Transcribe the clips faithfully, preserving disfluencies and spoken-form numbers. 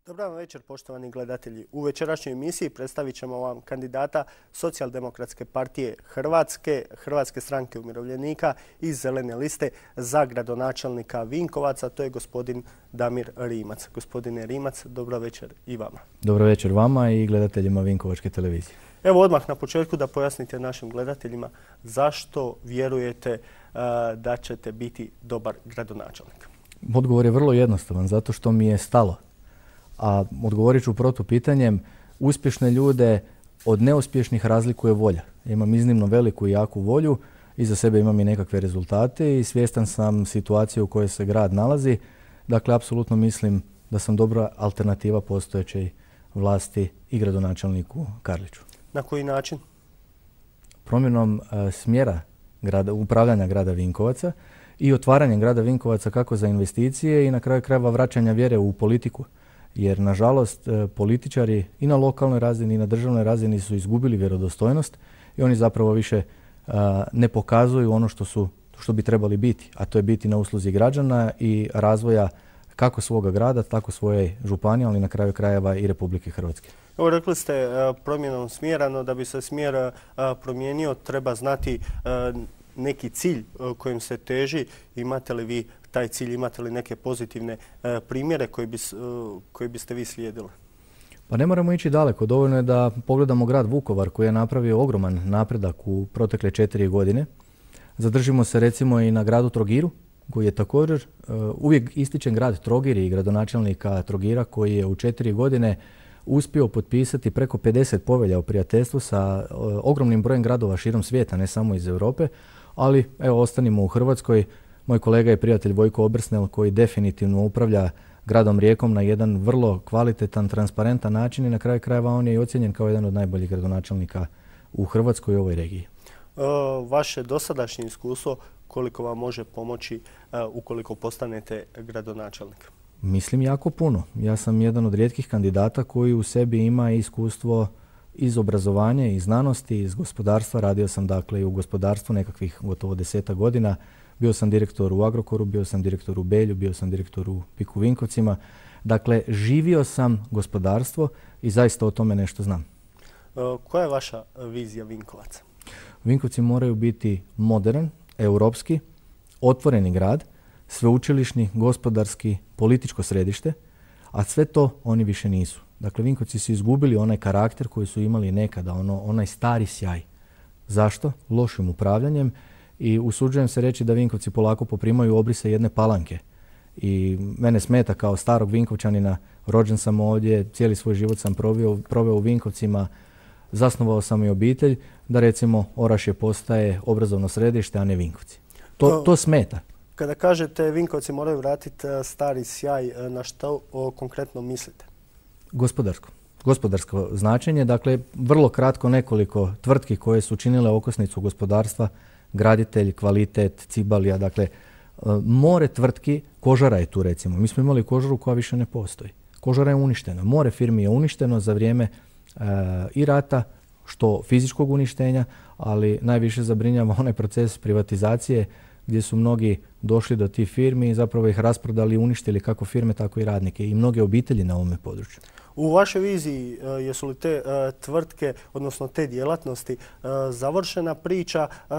Dobar vam večer, poštovani gledatelji. U večerašnjoj emisiji predstavit ćemo vam kandidata Socijaldemokratske partije Hrvatske, Hrvatske stranke umirovljenika i Zelene liste za gradonačelnika Vinkovaca. To je gospodin Damir Rimac. Gospodine Rimac, dobro večer i vama. Dobro večer vama i gledateljima Vinkovačke televizije. Evo odmah na početku da pojasnite našim gledateljima zašto vjerujete uh, da ćete biti dobar gradonačelnik. Odgovor je vrlo jednostavan, zato što mi je stalo. A odgovorit ću protupitanjem, uspješne ljude od neuspješnih razlikuje volja. Ja imam iznimno veliku i jaku volju, iza sebe imam i nekakve rezultate i svjestan sam situacije u kojoj se grad nalazi. Dakle, apsolutno mislim da sam dobra alternativa postojećoj vlasti i gradonačelniku Karliću. Na koji način? Promjenom e, smjera grada, upravljanja grada Vinkovaca i otvaranjem grada Vinkovaca kako za investicije i na kraju krajeva vraćanja vjere u politiku. Jer, nažalost, političari i na lokalnoj razini i na državnoj razini su izgubili vjerodostojnost i oni zapravo više a, ne pokazuju ono što, su, što bi trebali biti, a to je biti na usluzi građana i razvoja kako svoga grada, tako svoje županije, ali na kraju krajeva i Republike Hrvatske. Evo, rekli ste a, promjenom smjera, no da bi se smjer a, promijenio treba znati a, neki cilj a, kojim se teži. Imate li vi taj cilj, imate li neke pozitivne e, primjere koji, bi, e, koji biste vi slijedili? Pa ne moramo ići daleko. Dovoljno je da pogledamo grad Vukovar koji je napravio ogroman napredak u protekle četiri godine. Zadržimo se recimo i na gradu Trogiru koji je također e, uvijek ističen grad Trogir i gradonačelnika Trogira koji je u četiri godine uspio potpisati preko pedeset povelja o prijateljstvu sa e, ogromnim brojem gradova širom svijeta, ne samo iz Europe, ali evo ostanimo u Hrvatskoj. Moj kolega i prijatelj Vojko Obrsnel koji definitivno upravlja gradom Rijekom na jedan vrlo kvalitetan, transparentan način i na kraju krajeva on je i ocijenjen kao jedan od najboljih gradonačelnika u Hrvatskoj i ovoj regiji. E, vaše dosadašnje iskustvo koliko vam može pomoći e, ukoliko postanete gradonačelnik? Mislim jako puno. Ja sam jedan od rijetkih kandidata koji u sebi ima iskustvo iz obrazovanja i znanosti, iz gospodarstva. Radio sam dakle i u gospodarstvu nekakvih gotovo deseta godina. Bio sam direktor u Agrokoru, bio sam direktor u Belju, bio sam direktor u Piku Vinkovcima. Dakle, živio sam gospodarstvo i zaista o tome nešto znam. E, koja je vaša vizija Vinkovaca? Vinkovci moraju biti modern, europski, otvoreni grad, sveučilišni, gospodarski, političko središte, a sve to oni više nisu. Dakle, Vinkovci su izgubili onaj karakter koji su imali nekada, ono, onaj stari sjaj. Zašto? Lošim upravljanjem. I usuđujem se reći da Vinkovci polako poprimaju obrise jedne Palanke. I mene smeta kao starog Vinkovčanina, rođen sam ovdje, cijeli svoj život sam proveo, proveo u Vinkovcima, zasnovao sam i obitelj, da recimo Orašje postaje obrazovno središte, a ne Vinkovci. To, to smeta. Kada kažete Vinkovci moraju vratiti stari sjaj, na što o, konkretno mislite? Gospodarsko. Gospodarsko značenje, dakle vrlo kratko nekoliko tvrtki koje su činile okosnicu gospodarstva, Graditelj, Kvalitet, Cibalija, dakle more tvrtki, Kožara je tu recimo. Mi smo imali Kožaru koja više ne postoji. Kožara je uništena. More firmi je uništeno za vrijeme e, i rata, što fizičkog uništenja, ali najviše zabrinjava onaj proces privatizacije gdje su mnogi došli do tih firmi i zapravo ih rasprodali i uništili kako firme, tako i radnike i mnoge obitelji na ovome području. U vašoj viziji jesu li te uh, tvrtke, odnosno te djelatnosti, uh, završena priča, uh,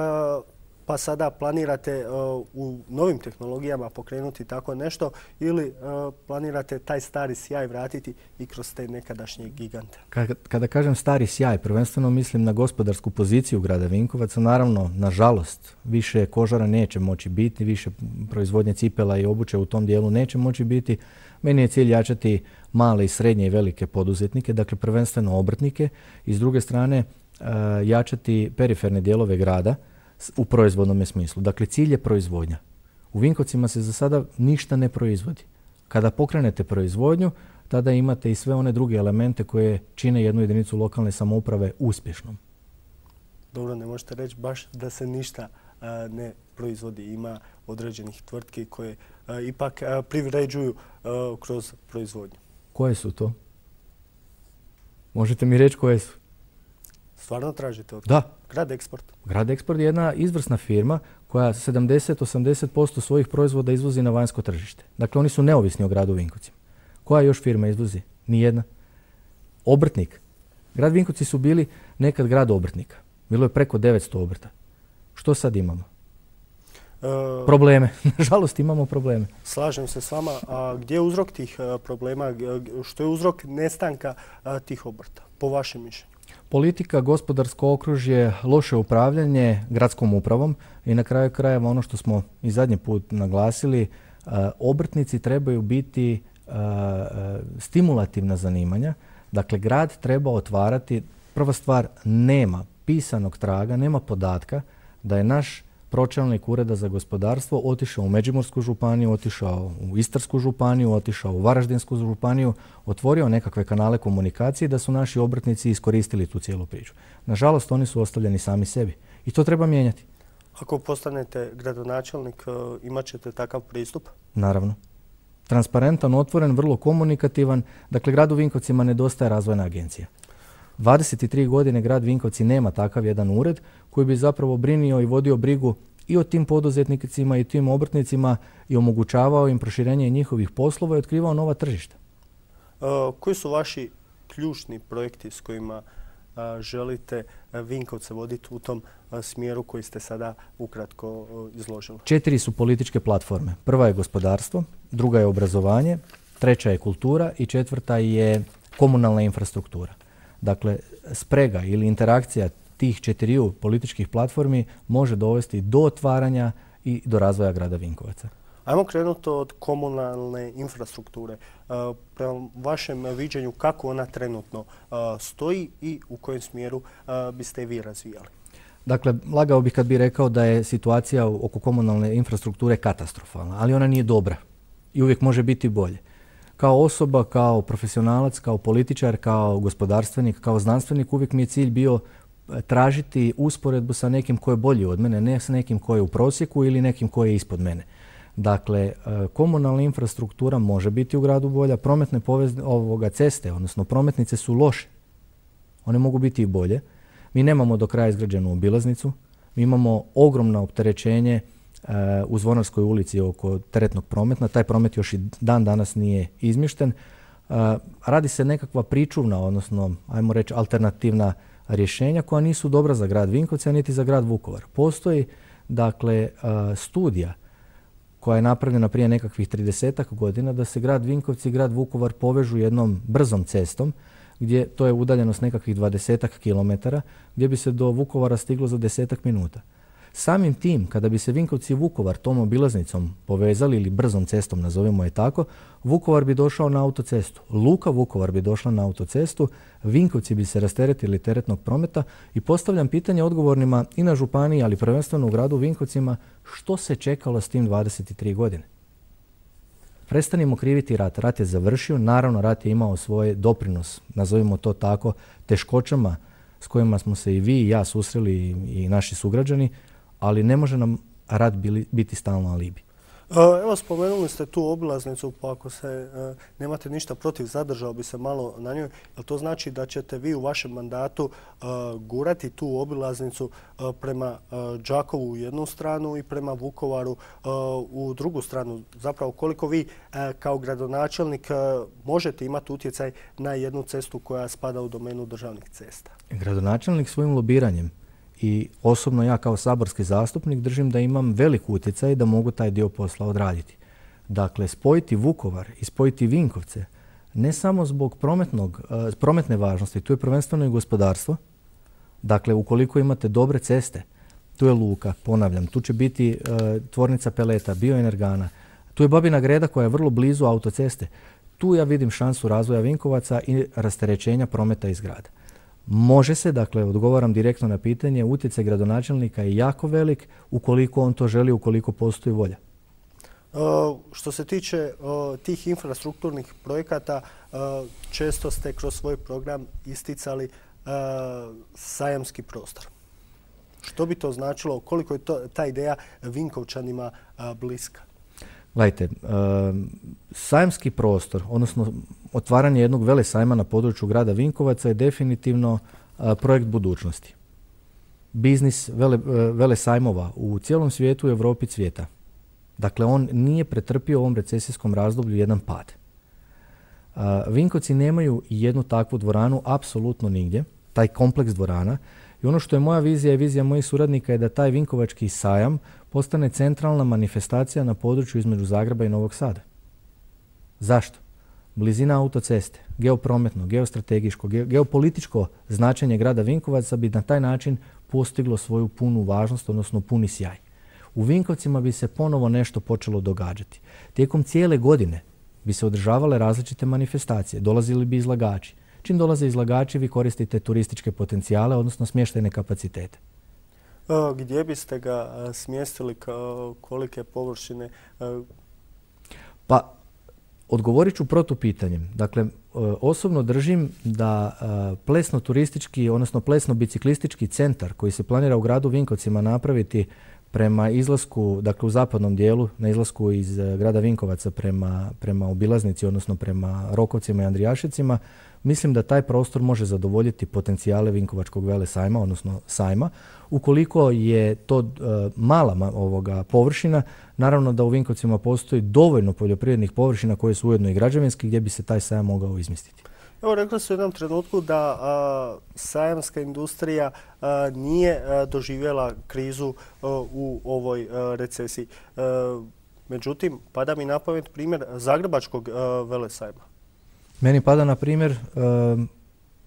pa sada planirate uh, u novim tehnologijama pokrenuti tako nešto ili uh, planirate taj stari sjaj vratiti i kroz te nekadašnje gigante? Kada, kada kažem stari sjaj, prvenstveno mislim na gospodarsku poziciju grada Vinkovaca. Naravno, nažalost, više Kožara neće moći biti, više proizvodnje cipela i obuće u tom dijelu neće moći biti. Meni je cilj jačati male i srednje i velike poduzetnike, dakle prvenstveno obrtnike i s druge strane uh, jačati periferne dijelove grada u proizvodnom smislu. Dakle, cilj je proizvodnja. U Vinkovcima se za sada ništa ne proizvodi. Kada pokrenete proizvodnju, tada imate i sve one druge elemente koje čine jednu jedinicu lokalne samouprave uspješnom. Dobro, ne možete reći baš da se ništa uh, ne proizvodi. Ima određenih tvrtki koje uh, ipak uh, privređuju uh, kroz proizvodnju. Koje su to? Možete mi reći koje su? Stvarno tražite od Da. Grad Eksport. Grad Eksport je jedna izvrsna firma koja sedamdeset do osamdeset posto svojih proizvoda izvozi na vanjsko tržište. Dakle, oni su neovisni o gradu Vinkovcima. Koja još firma izvozi? Nijedna. Obrtnik. Grad Vinkovci su bili nekad grad obrtnika. Bilo je preko devetsto obrta. Što sad imamo? E, probleme. Nažalost imamo probleme. Slažem se s vama. A gdje je uzrok tih problema? Što je uzrok nestanka tih obrta, po vašem mišljenju? Politika, gospodarsko okružje, loše upravljanje gradskom upravom i na kraju krajeva ono što smo i zadnji put naglasili, obrtnici trebaju biti stimulativna zanimanja. Dakle, grad treba otvarati, prva stvar, nema pisanog traga, nema podatka da je naš pročelnik Ureda za gospodarstvo otišao u Međimursku županiju, otišao u Istarsku županiju, otišao u Varaždinsku županiju, otvorio nekakve kanale komunikacije da su naši obrtnici iskoristili tu cijelu priču. Nažalost, oni su ostavljeni sami sebi i to treba mijenjati. Ako postanete gradonačelnik, imat ćete takav pristup? Naravno. Transparentan, otvoren, vrlo komunikativan. Dakle, gradu Vinkovcima nedostaje razvojna agencija. dvadeset tri godine grad Vinkovci nema takav jedan ured koji bi zapravo brinio i vodio brigu i o tim poduzetnicima i tim obrtnicima i omogućavao im proširenje njihovih poslova i otkrivao nova tržišta. Uh, koji su vaši ključni projekti s kojima uh, želite Vinkovce voditi u tom uh, smjeru koji ste sada ukratko uh, izložili? Četiri su političke platforme. Prva je gospodarstvo, druga je obrazovanje, treća je kultura i četvrta je komunalna infrastruktura. Dakle, sprega ili interakcija tih četiriju političkih platformi može dovesti do otvaranja i do razvoja grada Vinkovaca. Ajmo krenuti od komunalne infrastrukture. Uh, prema vašem viđenju kako ona trenutno uh, stoji i u kojem smjeru uh, biste vi razvijali? Dakle, lagao bih kad bih rekao da je situacija oko komunalne infrastrukture katastrofalna, ali ona nije dobra i uvijek može biti bolje. Kao osoba, kao profesionalac, kao političar, kao gospodarstvenik, kao znanstvenik, uvijek mi je cilj bio tražiti usporedbu sa nekim ko je bolji od mene, ne s nekim ko je u prosjeku ili nekim ko je ispod mene. Dakle, komunalna infrastruktura može biti u gradu bolja, prometne povez, ovoga, ceste, odnosno prometnice su loše. One mogu biti i bolje. Mi nemamo do kraja izgrađenu obilaznicu, mi imamo ogromno opterećenje u Zvonarskoj ulici oko teretnog prometa. Taj promet još i dan danas nije izmješten. Radi se nekakva pričuvna, odnosno, ajmo reći, alternativna rješenja koja nisu dobra za grad Vinkovci, niti za grad Vukovar. Postoji, dakle, studija koja je napravljena prije nekakvih tridesetak godina da se grad Vinkovci i grad Vukovar povežu jednom brzom cestom, gdje to je udaljenost nekakvih dvadesetak kilometara, gdje bi se do Vukovara stiglo za desetak minuta. Samim tim, kada bi se Vinkovci i Vukovar tom obilaznicom povezali ili brzom cestom, nazovimo je tako, Vukovar bi došao na autocestu. Luka Vukovar bi došla na autocestu, Vinkovci bi se rasteretili teretnog prometa i postavljam pitanje odgovornima i na županiji, ali prvenstveno u gradu Vinkovcima, što se čekalo s tim dvadeset tri godine? Prestanimo kriviti rat. Rat je završio, naravno rat je imao svoj doprinos, nazovimo to tako, teškoćama s kojima smo se i vi i ja susreli i naši sugrađani, ali ne može nam rat bili, biti stalno alibi. Evo, spomenuli ste tu obilaznicu, pa ako se e, nemate ništa protiv, zadržao bi se malo na njoj. Jel to znači da ćete vi u vašem mandatu e, gurati tu obilaznicu e, prema e, Đakovu u jednu stranu i prema Vukovaru e, u drugu stranu? Zapravo, koliko vi e, kao gradonačelnik e, možete imati utjecaj na jednu cestu koja spada u domenu državnih cesta? Gradonačelnik svojim lobiranjem i osobno ja kao saborski zastupnik držim da imam velik utjecaj da mogu taj dio posla odraditi. Dakle, spojiti Vukovar i spojiti Vinkovce ne samo zbog prometnog, prometne važnosti, tu je prvenstveno i gospodarstvo. Dakle, ukoliko imate dobre ceste, tu je luka, ponavljam, tu će biti uh, tvornica peleta, bioenergana, tu je Babina Greda koja je vrlo blizu autoceste. Tu ja vidim šansu razvoja Vinkovaca i rasterećenja prometa iz grada. Može se, dakle, odgovaram direktno na pitanje, utjecaj gradonačelnika je jako velik ukoliko on to želi, ukoliko postoji volja. Uh, što se tiče uh, tih infrastrukturnih projekata, uh, često ste kroz svoj program isticali uh, sajamski prostor. Što bi to značilo? Koliko je to, ta ideja Vinkovčanima uh, bliska? Gledajte, uh, sajamski prostor, odnosno otvaranje jednog velesajma na području grada Vinkovaca je definitivno uh, projekt budućnosti. Biznis vele, uh, velesajmova u cijelom svijetu i Europi cvijeta. Dakle, on nije pretrpio u ovom recesijskom razdoblju jedan pad. Vinkovci nemaju jednu takvu dvoranu apsolutno nigdje, taj kompleks dvorana. I ono što je moja vizija i vizija mojih suradnika je da taj Vinkovački sajam postane centralna manifestacija na području između Zagreba i Novog Sada. Zašto? Blizina autoceste, geoprometno, geostrategijsko, ge, geopolitičko značenje grada Vinkovaca bi na taj način postiglo svoju punu važnost, odnosno puni sjaj. U Vinkovcima bi se ponovo nešto počelo događati. Tijekom cijele godine bi se održavale različite manifestacije, dolazili bi izlagači. Čim dolaze izlagači, vi koristite turističke potencijale, odnosno smještajne kapacitete. Gdje biste ga smjestili, kolike površine? Pa, odgovorit ću protupitanjem. Dakle, osobno držim da plesno-turistički, odnosno plesno-biciklistički centar koji se planira u gradu Vinkovcima napraviti prema izlasku, dakle u zapadnom dijelu, na izlasku iz grada Vinkovaca prema, prema obilaznici, odnosno prema Rokovcima i Andrijašicima, mislim da taj prostor može zadovoljiti potencijale Vinkovačkog velesajma, odnosno sajma. Ukoliko je to uh, mala ovoga površina, naravno da u Vinkovcima postoji dovoljno poljoprivrednih površina koje su ujedno i građevinski gdje bi se taj sajam mogao izmjestiti. Evo, rekli su u jednom trenutku da a, sajamska industrija a, nije a, doživjela krizu a, u ovoj a, recesiji. A, međutim, pada mi na pamet primjer Zagrebačkog a, velesajma. Meni pada na primjer a,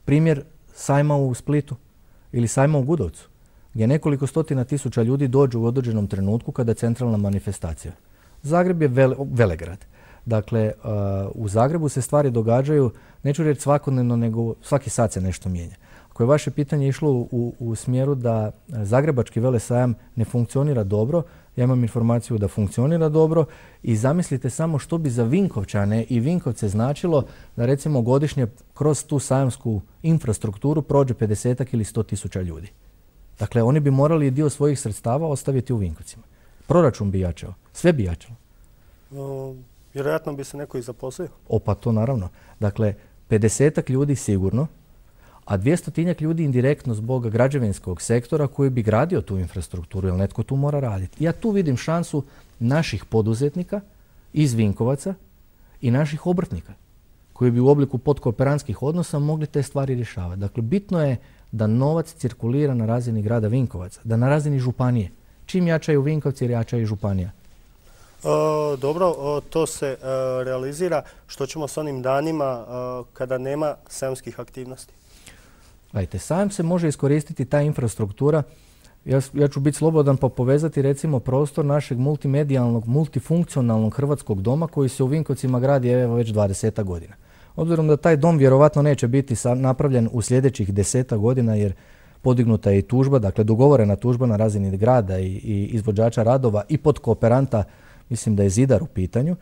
primjer sajma u Splitu ili sajma u Gudovcu, gdje nekoliko stotina tisuća ljudi dođu u određenom trenutku kada je centralna manifestacija. Zagreb je vele, velegrad. Dakle, uh, u Zagrebu se stvari događaju, neću reći svakodnevno, nego svaki sat se nešto mijenja. Ako je vaše pitanje išlo u, u smjeru da Zagrebački velesajam ne funkcionira dobro, ja imam informaciju da funkcionira dobro i zamislite samo što bi za Vinkovčane i Vinkovce značilo da recimo godišnje kroz tu sajamsku infrastrukturu prođe pedesetak ili sto tisuća ljudi. Dakle, oni bi morali dio svojih sredstava ostaviti u Vinkovcima. Proračun bi jačao, sve bi jačalo. Um. Vjerojatno bi se neko i zaposlio. O, pa to naravno. Dakle, pedesetak ljudi sigurno, a dvjestotinjak ljudi indirektno zbog građevinskog sektora koji bi gradio tu infrastrukturu, jer netko tu mora raditi. Ja tu vidim šansu naših poduzetnika iz Vinkovaca i naših obrtnika koji bi u obliku podkooperantskih odnosa mogli te stvari rješavati. Dakle, bitno je da novac cirkulira na razini grada Vinkovaca, da na razini županije. Čim jačaju Vinkovci, jačaju i županija. E, dobro, o, to se e, realizira. Što ćemo s onim danima e, kada nema sajamskih aktivnosti? Gledajte, sajam se može iskoristiti ta infrastruktura. Ja, ja ću biti slobodan pa povezati recimo prostor našeg multimedijalnog, multifunkcionalnog hrvatskog doma koji se u Vinkovcima gradi evo već dvadesetak godina. Obzirom da taj dom vjerovatno neće biti napravljen u sljedećih desetak godina jer podignuta je i tužba, dakle dogovorena tužba na razini grada i, i izvođača radova i podkooperanta, mislim da je Zidar u pitanju.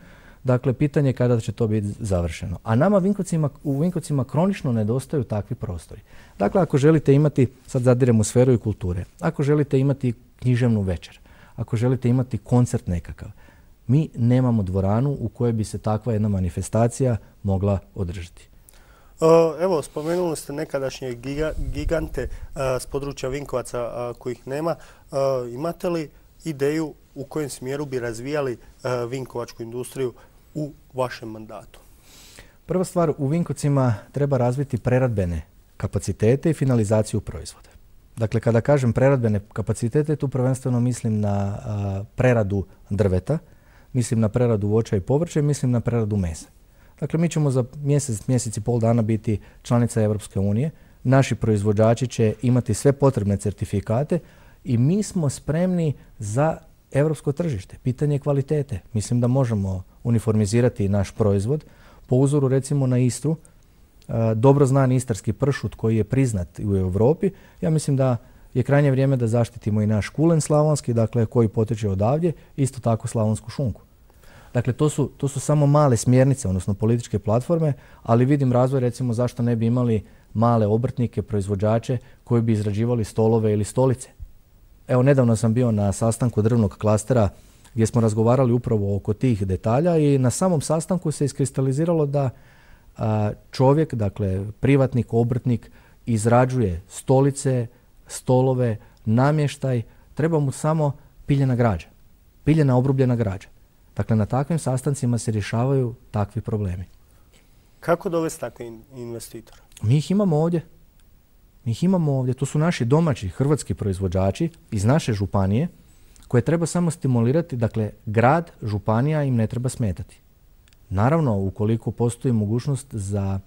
Dakle, pitanje je kada će to biti završeno. A nama Vinkovcima, u Vinkovcima kronično nedostaju takvi prostori. Dakle, ako želite imati, sad zadiremo u sferu i kulture, ako želite imati književnu večer, ako želite imati koncert nekakav, mi nemamo dvoranu u kojoj bi se takva jedna manifestacija mogla održati. Evo, spomenuli ste nekadašnje giga, gigante a, s područja Vinkovaca a, kojih nema. A, imate li ideju u kojem smjeru bi razvijali a, vinkovačku industriju u vašem mandatu? Prva stvar, u Vinkovcima treba razviti preradbene kapacitete i finalizaciju proizvoda. Dakle, kada kažem preradbene kapacitete, tu prvenstveno mislim na a, preradu drveta, mislim na preradu voća i povrća i mislim na preradu mesa. Dakle, mi ćemo za mjesec, mjesec i pol dana biti članica Europske unije. Naši proizvođači će imati sve potrebne certifikate i mi smo spremni za europsko tržište. Pitanje kvalitete. Mislim da možemo uniformizirati naš proizvod. Po uzoru recimo na Istru, dobro znan istarski pršut koji je priznat u Europi. Ja mislim da je krajnje vrijeme da zaštitimo i naš kulen slavonski, dakle koji potječe odavdje, isto tako slavonsku šunku. Dakle, to su, to su samo male smjernice, odnosno političke platforme, ali vidim razvoj recimo zašto ne bi imali male obrtnike, proizvođače koji bi izrađivali stolove ili stolice. Evo, nedavno sam bio na sastanku drvnog klastera gdje smo razgovarali upravo oko tih detalja i na samom sastanku se iskristaliziralo da a, čovjek, dakle privatnik, obrtnik, izrađuje stolice, stolove, namještaj, treba mu samo piljena građa, piljena obrubljena građa. Dakle, na takvim sastancima se rješavaju takvi problemi. Kako dovesti takve investitore? Mi ih imamo ovdje. Mi ih imamo ovdje. To su naši domaći hrvatski proizvođači iz naše županije koje treba samo stimulirati. Dakle, grad, županija im ne treba smetati. Naravno, ukoliko postoji mogućnost za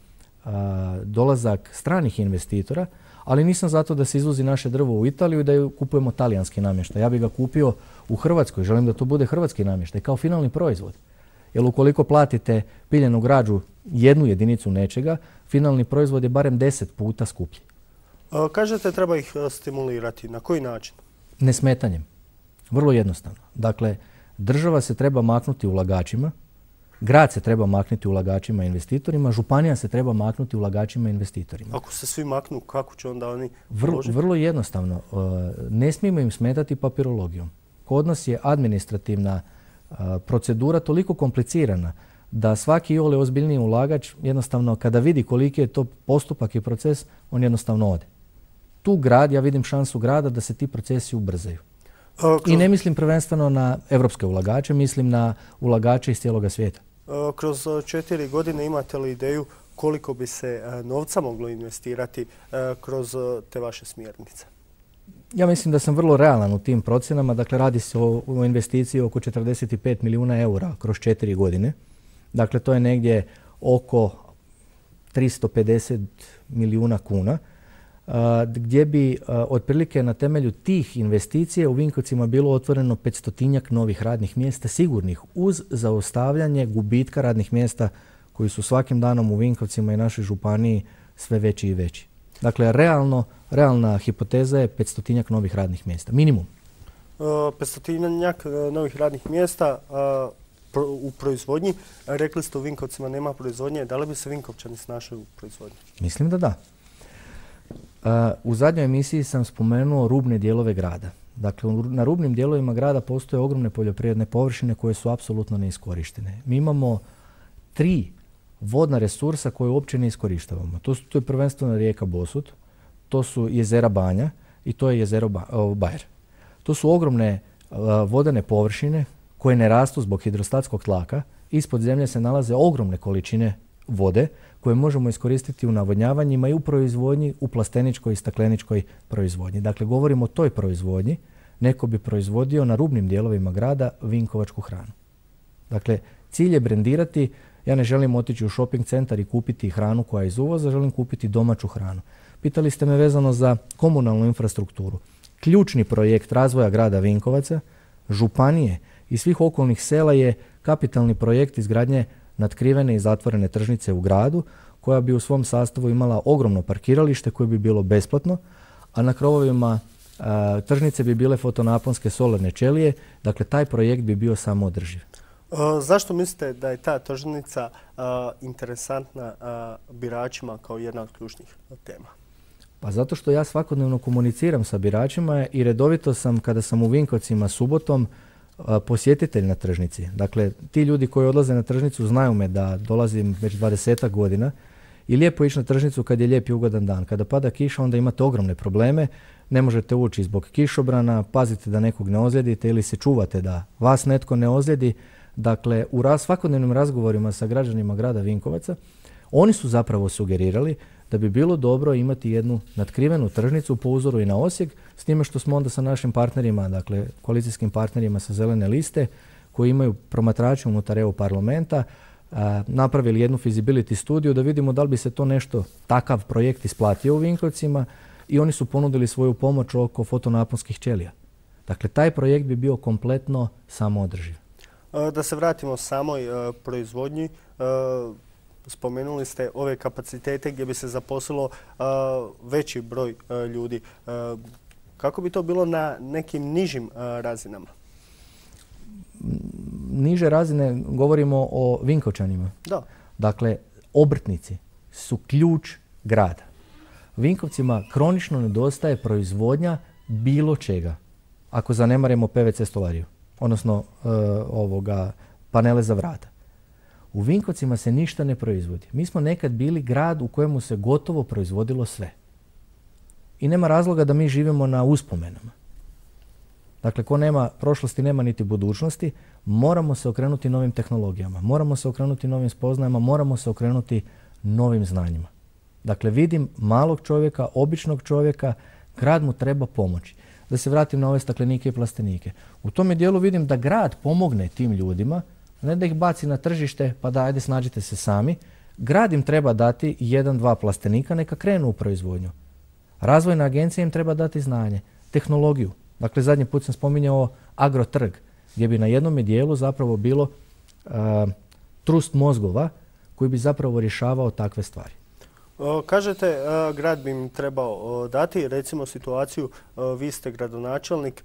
a, dolazak stranih investitora, ali nisam zato da se izvozi naše drvo u Italiju i da kupujemo talijanski namještaj. Ja bih ga kupio u Hrvatskoj. Želim da to bude hrvatski namještaj kao finalni proizvod. Jer ukoliko platite piljenu građu jednu jedinicu nečega, finalni proizvod je barem deset puta skuplji. A, kažete treba ih stimulirati. Na koji način? Nesmetanjem. Vrlo jednostavno. Dakle, država se treba maknuti ulagačima, grad se treba maknuti ulagačima i investitorima, županija se treba maknuti ulagačima i investitorima. Ako se svi maknu, kako će onda oni vrlo, vrlo jednostavno. Ne smijemo im smetati papirologijom. Kod nas je administrativna procedura toliko komplicirana da svaki iole ozbiljniji ulagač jednostavno kada vidi koliki je to postupak i proces, on jednostavno ode. Tu grad, ja vidim šansu grada da se ti procesi ubrzaju. A, kroz... I ne mislim prvenstveno na evropske ulagače, mislim na ulagače iz cijeloga svijeta. A, kroz četiri godine imate li ideju koliko bi se novca moglo investirati a, kroz te vaše smjernice? Ja mislim da sam vrlo realan u tim procjenama. Dakle, radi se o, o investiciji oko četrdeset pet milijuna eura kroz četiri godine. Dakle, to je negdje oko tristo pedeset milijuna kuna, a, gdje bi a, otprilike na temelju tih investicija u Vinkovcima bilo otvoreno petstotinjak novih radnih mjesta sigurnih uz zaustavljanje gubitka radnih mjesta koji su svakim danom u Vinkovcima i našoj županiji sve veći i veći. Dakle, realno, realna hipoteza je petstotinjak novih radnih mjesta. Minimum. petstotinjak novih radnih mjesta a, pro, u proizvodnji. Rekli ste u Vinkovcima nema proizvodnje. Da li bi se Vinkovčani snašli u proizvodnji? Mislim da da. A, u zadnjoj emisiji sam spomenuo rubne dijelove grada. Dakle, na rubnim dijelovima grada postoje ogromne poljoprivredne površine koje su apsolutno neiskorištene. Mi imamo tri vodna resursa koje uopće ne iskorištavamo. To, su, to je prvenstveno rijeka Bosut, to su jezera Banja i to je jezero ba, o, Bajer. To su ogromne uh, vodene površine koje ne rastu zbog hidrostatskog tlaka. Ispod zemlje se nalaze ogromne količine vode koje možemo iskoristiti u navodnjavanjima i u proizvodnji, u plasteničkoj i stakleničkoj proizvodnji. Dakle, govorimo o toj proizvodnji. Neko bi proizvodio na rubnim dijelovima grada vinkovačku hranu. Dakle, cilj je brendirati. Ja ne želim otići u shopping centar i kupiti hranu koja je iz uvoza, želim kupiti domaću hranu. Pitali ste me vezano za komunalnu infrastrukturu. Ključni projekt razvoja grada Vinkovaca, županije i svih okolnih sela je kapitalni projekt izgradnje natkrivene i zatvorene tržnice u gradu, koja bi u svom sastavu imala ogromno parkiralište koje bi bilo besplatno, a na krovovima a, tržnice bi bile fotonaponske solarne ćelije. Dakle, taj projekt bi bio samoodrživ. Uh, zašto mislite da je ta tržnica uh, interesantna uh, biračima kao jedna od ključnih tema? Pa zato što ja svakodnevno komuniciram sa biračima i redovito sam, kada sam u Vinkovcima subotom, uh, posjetitelj na tržnici. Dakle, ti ljudi koji odlaze na tržnicu znaju me da dolazim već dvadesetak godina i lijepo ići na tržnicu kad je lijep i ugodan dan. Kada pada kiša, onda imate ogromne probleme. Ne možete ući zbog kišobrana, pazite da nekog ne ozlijedite ili se čuvate da vas netko ne ozlijedi. Dakle, u raz, svakodnevnim razgovorima sa građanima grada Vinkovaca, oni su zapravo sugerirali da bi bilo dobro imati jednu natkrivenu tržnicu po uzoru i na Osijek, s time što smo onda sa našim partnerima, dakle koalicijskim partnerima sa Zelene liste, koji imaju promatrače unutar E U parlamenta, a, napravili jednu feasibility studiju da vidimo da li bi se to nešto, takav projekt isplatio u Vinkovcima, i oni su ponudili svoju pomoć oko fotonaponskih ćelija. Dakle, taj projekt bi bio kompletno samoodrživ. Da se vratimo samoj uh, proizvodnji, uh, spomenuli ste ove kapacitete gdje bi se zaposlilo uh, veći broj uh, ljudi. Uh, kako bi to bilo na nekim nižim uh, razinama? Niže razine, govorimo o Vinkovčanima. Da. Dakle, obrtnici su ključ grada. Vinkovcima kronično nedostaje proizvodnja bilo čega, ako zanemarimo P V C stolariju, odnosno e, ovoga, panele za vrata. U Vinkovcima se ništa ne proizvodi. Mi smo nekad bili grad u kojemu se gotovo proizvodilo sve. I nema razloga da mi živimo na uspomenama. Dakle, ko nema prošlosti, nema niti budućnosti. Moramo se okrenuti novim tehnologijama, moramo se okrenuti novim spoznajama, moramo se okrenuti novim znanjima. Dakle, vidim malog čovjeka, običnog čovjeka, grad mu treba pomoći. Da se vratim na ove staklenike i plastenike. U tome dijelu vidim da grad pomogne tim ljudima, ne da ih baci na tržište pa da ajde snađite se sami. Grad im treba dati jedan, dva plastenika, neka krenu u proizvodnju. Razvojna agencija im treba dati znanje, tehnologiju. Dakle, zadnji put sam spominjao agrotrg, gdje bi na jednom dijelu zapravo bilo uh, trust mozgova koji bi zapravo rješavao takve stvari. Kažete, grad bi im trebao dati, recimo situaciju, vi ste gradonačelnik,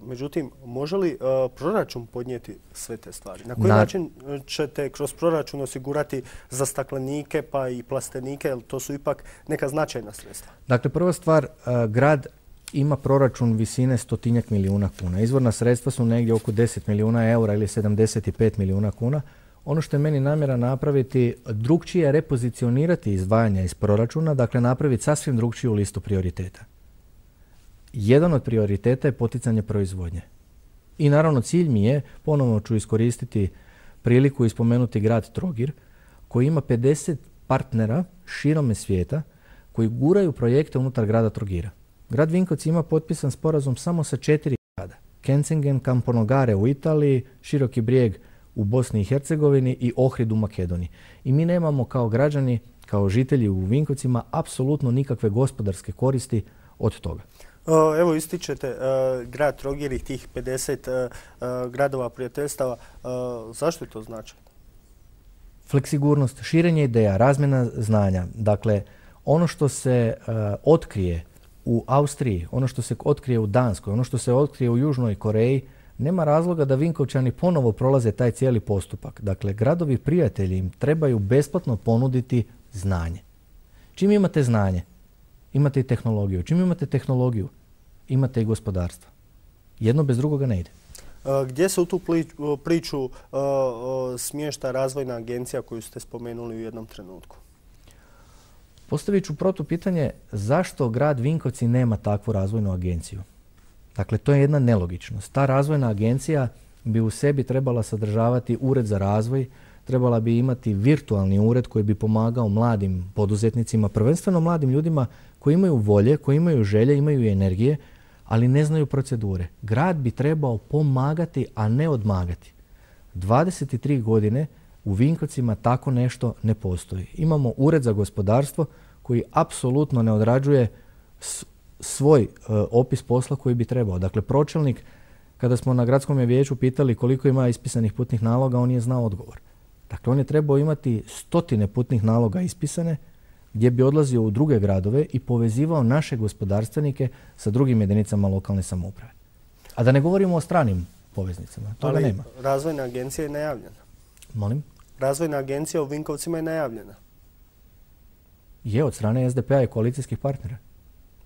međutim, može li proračun podnijeti sve te stvari? Na koji Na... način ćete kroz proračun osigurati za staklenike pa i plastenike, jer to su ipak neka značajna sredstva? Dakle, prva stvar, grad ima proračun visine stotinjak milijuna kuna. Izvorna sredstva su negdje oko deset milijuna eura ili sedamdeset pet milijuna kuna. Ono što je meni namjera napraviti, drugčije repozicionirati izdvajanja iz proračuna, dakle napraviti sasvim drugčiju listu prioriteta. Jedan od prioriteta je poticanje proizvodnje. I naravno cilj mi je, ponovno ću iskoristiti priliku i spomenuti grad Trogir, koji ima pedeset partnera širome svijeta koji guraju projekte unutar grada Trogira. Grad Vinkovci ima potpisan sporazum samo sa četiri grada. Kenzingen, Camponogare u Italiji, Široki Brijeg u Bosni i Hercegovini i Ohrid u Makedoniji. I mi nemamo kao građani, kao žitelji u Vinkovcima, apsolutno nikakve gospodarske koristi od toga. Evo ističete uh, grad Trogir i tih pedeset uh, uh, gradova prijateljstava. Uh, zašto je to značajno? Fleksigurnost, širenje ideja, razmjena znanja. Dakle, ono što se uh, otkrije u Austriji, ono što se otkrije u Danskoj, ono što se otkrije u Južnoj Koreji, nema razloga da Vinkovčani ponovo prolaze taj cijeli postupak. Dakle, gradovi prijatelji im trebaju besplatno ponuditi znanje. Čim imate znanje, imate i tehnologiju. Čim imate tehnologiju, imate i gospodarstvo. Jedno bez drugoga ne ide. Gdje se u tu priču smješta razvojna agencija koju ste spomenuli u jednom trenutku? Postavit ću protupitanje zašto grad Vinkovci nema takvu razvojnu agenciju. Dakle, to je jedna nelogičnost. Ta razvojna agencija bi u sebi trebala sadržavati ured za razvoj, trebala bi imati virtualni ured koji bi pomagao mladim poduzetnicima, prvenstveno mladim ljudima koji imaju volje, koji imaju želje, imaju i energije, ali ne znaju procedure. Grad bi trebao pomagati, a ne odmagati. dvadeset tri godine u Vinkovcima tako nešto ne postoji. Imamo ured za gospodarstvo koji apsolutno ne odrađuje svoj uh, opis posla koji bi trebao. Dakle, pročelnik, kada smo na gradskom vijeću pitali koliko ima ispisanih putnih naloga, on je znao odgovor. Dakle, on je trebao imati stotine putnih naloga ispisane, gdje bi odlazio u druge gradove i povezivao naše gospodarstvenike sa drugim jedinicama lokalne samouprave. A da ne govorimo o stranim poveznicama. Toga nema. Ali razvojna agencija je najavljena. Molim? Razvojna agencija u Vinkovcima je najavljena. Je, od strane S D P-a i koalicijskih partnera.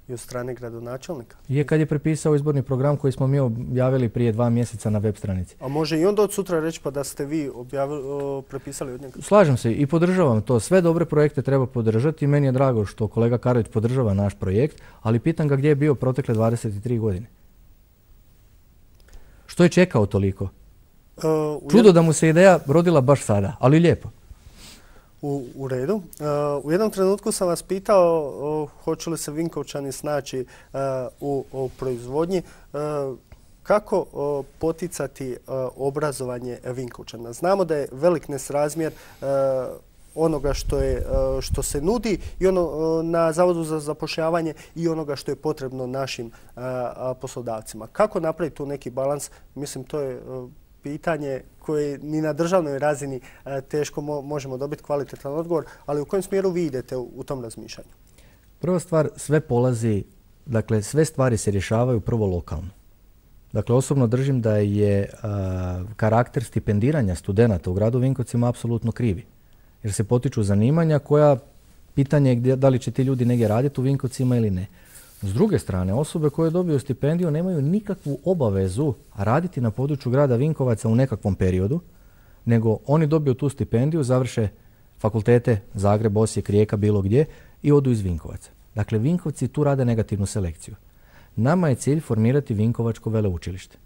I od strane gradonačelnika. Je, kad je prepisao izborni program koji smo mi objavili prije dva mjeseca na web stranici. A može i onda od sutra reći pa da ste vi objavili, o, prepisali od njega? Slažem se i podržavam to. Sve dobre projekte treba podržati i meni je drago što kolega Karović podržava naš projekt, ali pitam ga gdje je bio protekle dvadeset tri godine. Što je čekao toliko? Uh, Čudo da mu se ideja rodila baš sada, ali lijepo. U, u redu. Uh, u jednom trenutku sam vas pitao uh, hoće li se Vinkovčani snaći uh, u, u proizvodnji. Uh, kako uh, poticati uh, obrazovanje Vinkovčana? Znamo da je velik nesrazmjer uh, onoga što, je, uh, što se nudi i ono, uh, na Zavodu za zapošljavanje i onoga što je potrebno našim uh, poslodavcima. Kako napraviti tu neki balans? Mislim, to je uh, pitanje koje ni na državnoj razini teško možemo dobiti kvalitetan odgovor, ali u kojem smjeru vi idete u tom razmišljanju? Prva stvar, sve polazi, dakle sve stvari se rješavaju prvo lokalno. Dakle, osobno držim da je a, karakter stipendiranja studenata u gradu Vinkovcima apsolutno krivi. Jer se potiču zanimanja koja, pitanje je gdje, da li će ti ljudi negdje raditi u Vinkovcima ili ne. S druge strane, osobe koje dobiju stipendiju nemaju nikakvu obavezu raditi na području grada Vinkovaca u nekakvom periodu, nego oni dobiju tu stipendiju, završe fakultete Zagreb, Osijek, Rijeka, bilo gdje i odu iz Vinkovaca. Dakle, Vinkovci tu rade negativnu selekciju. Nama je cilj formirati Vinkovačko veleučilište.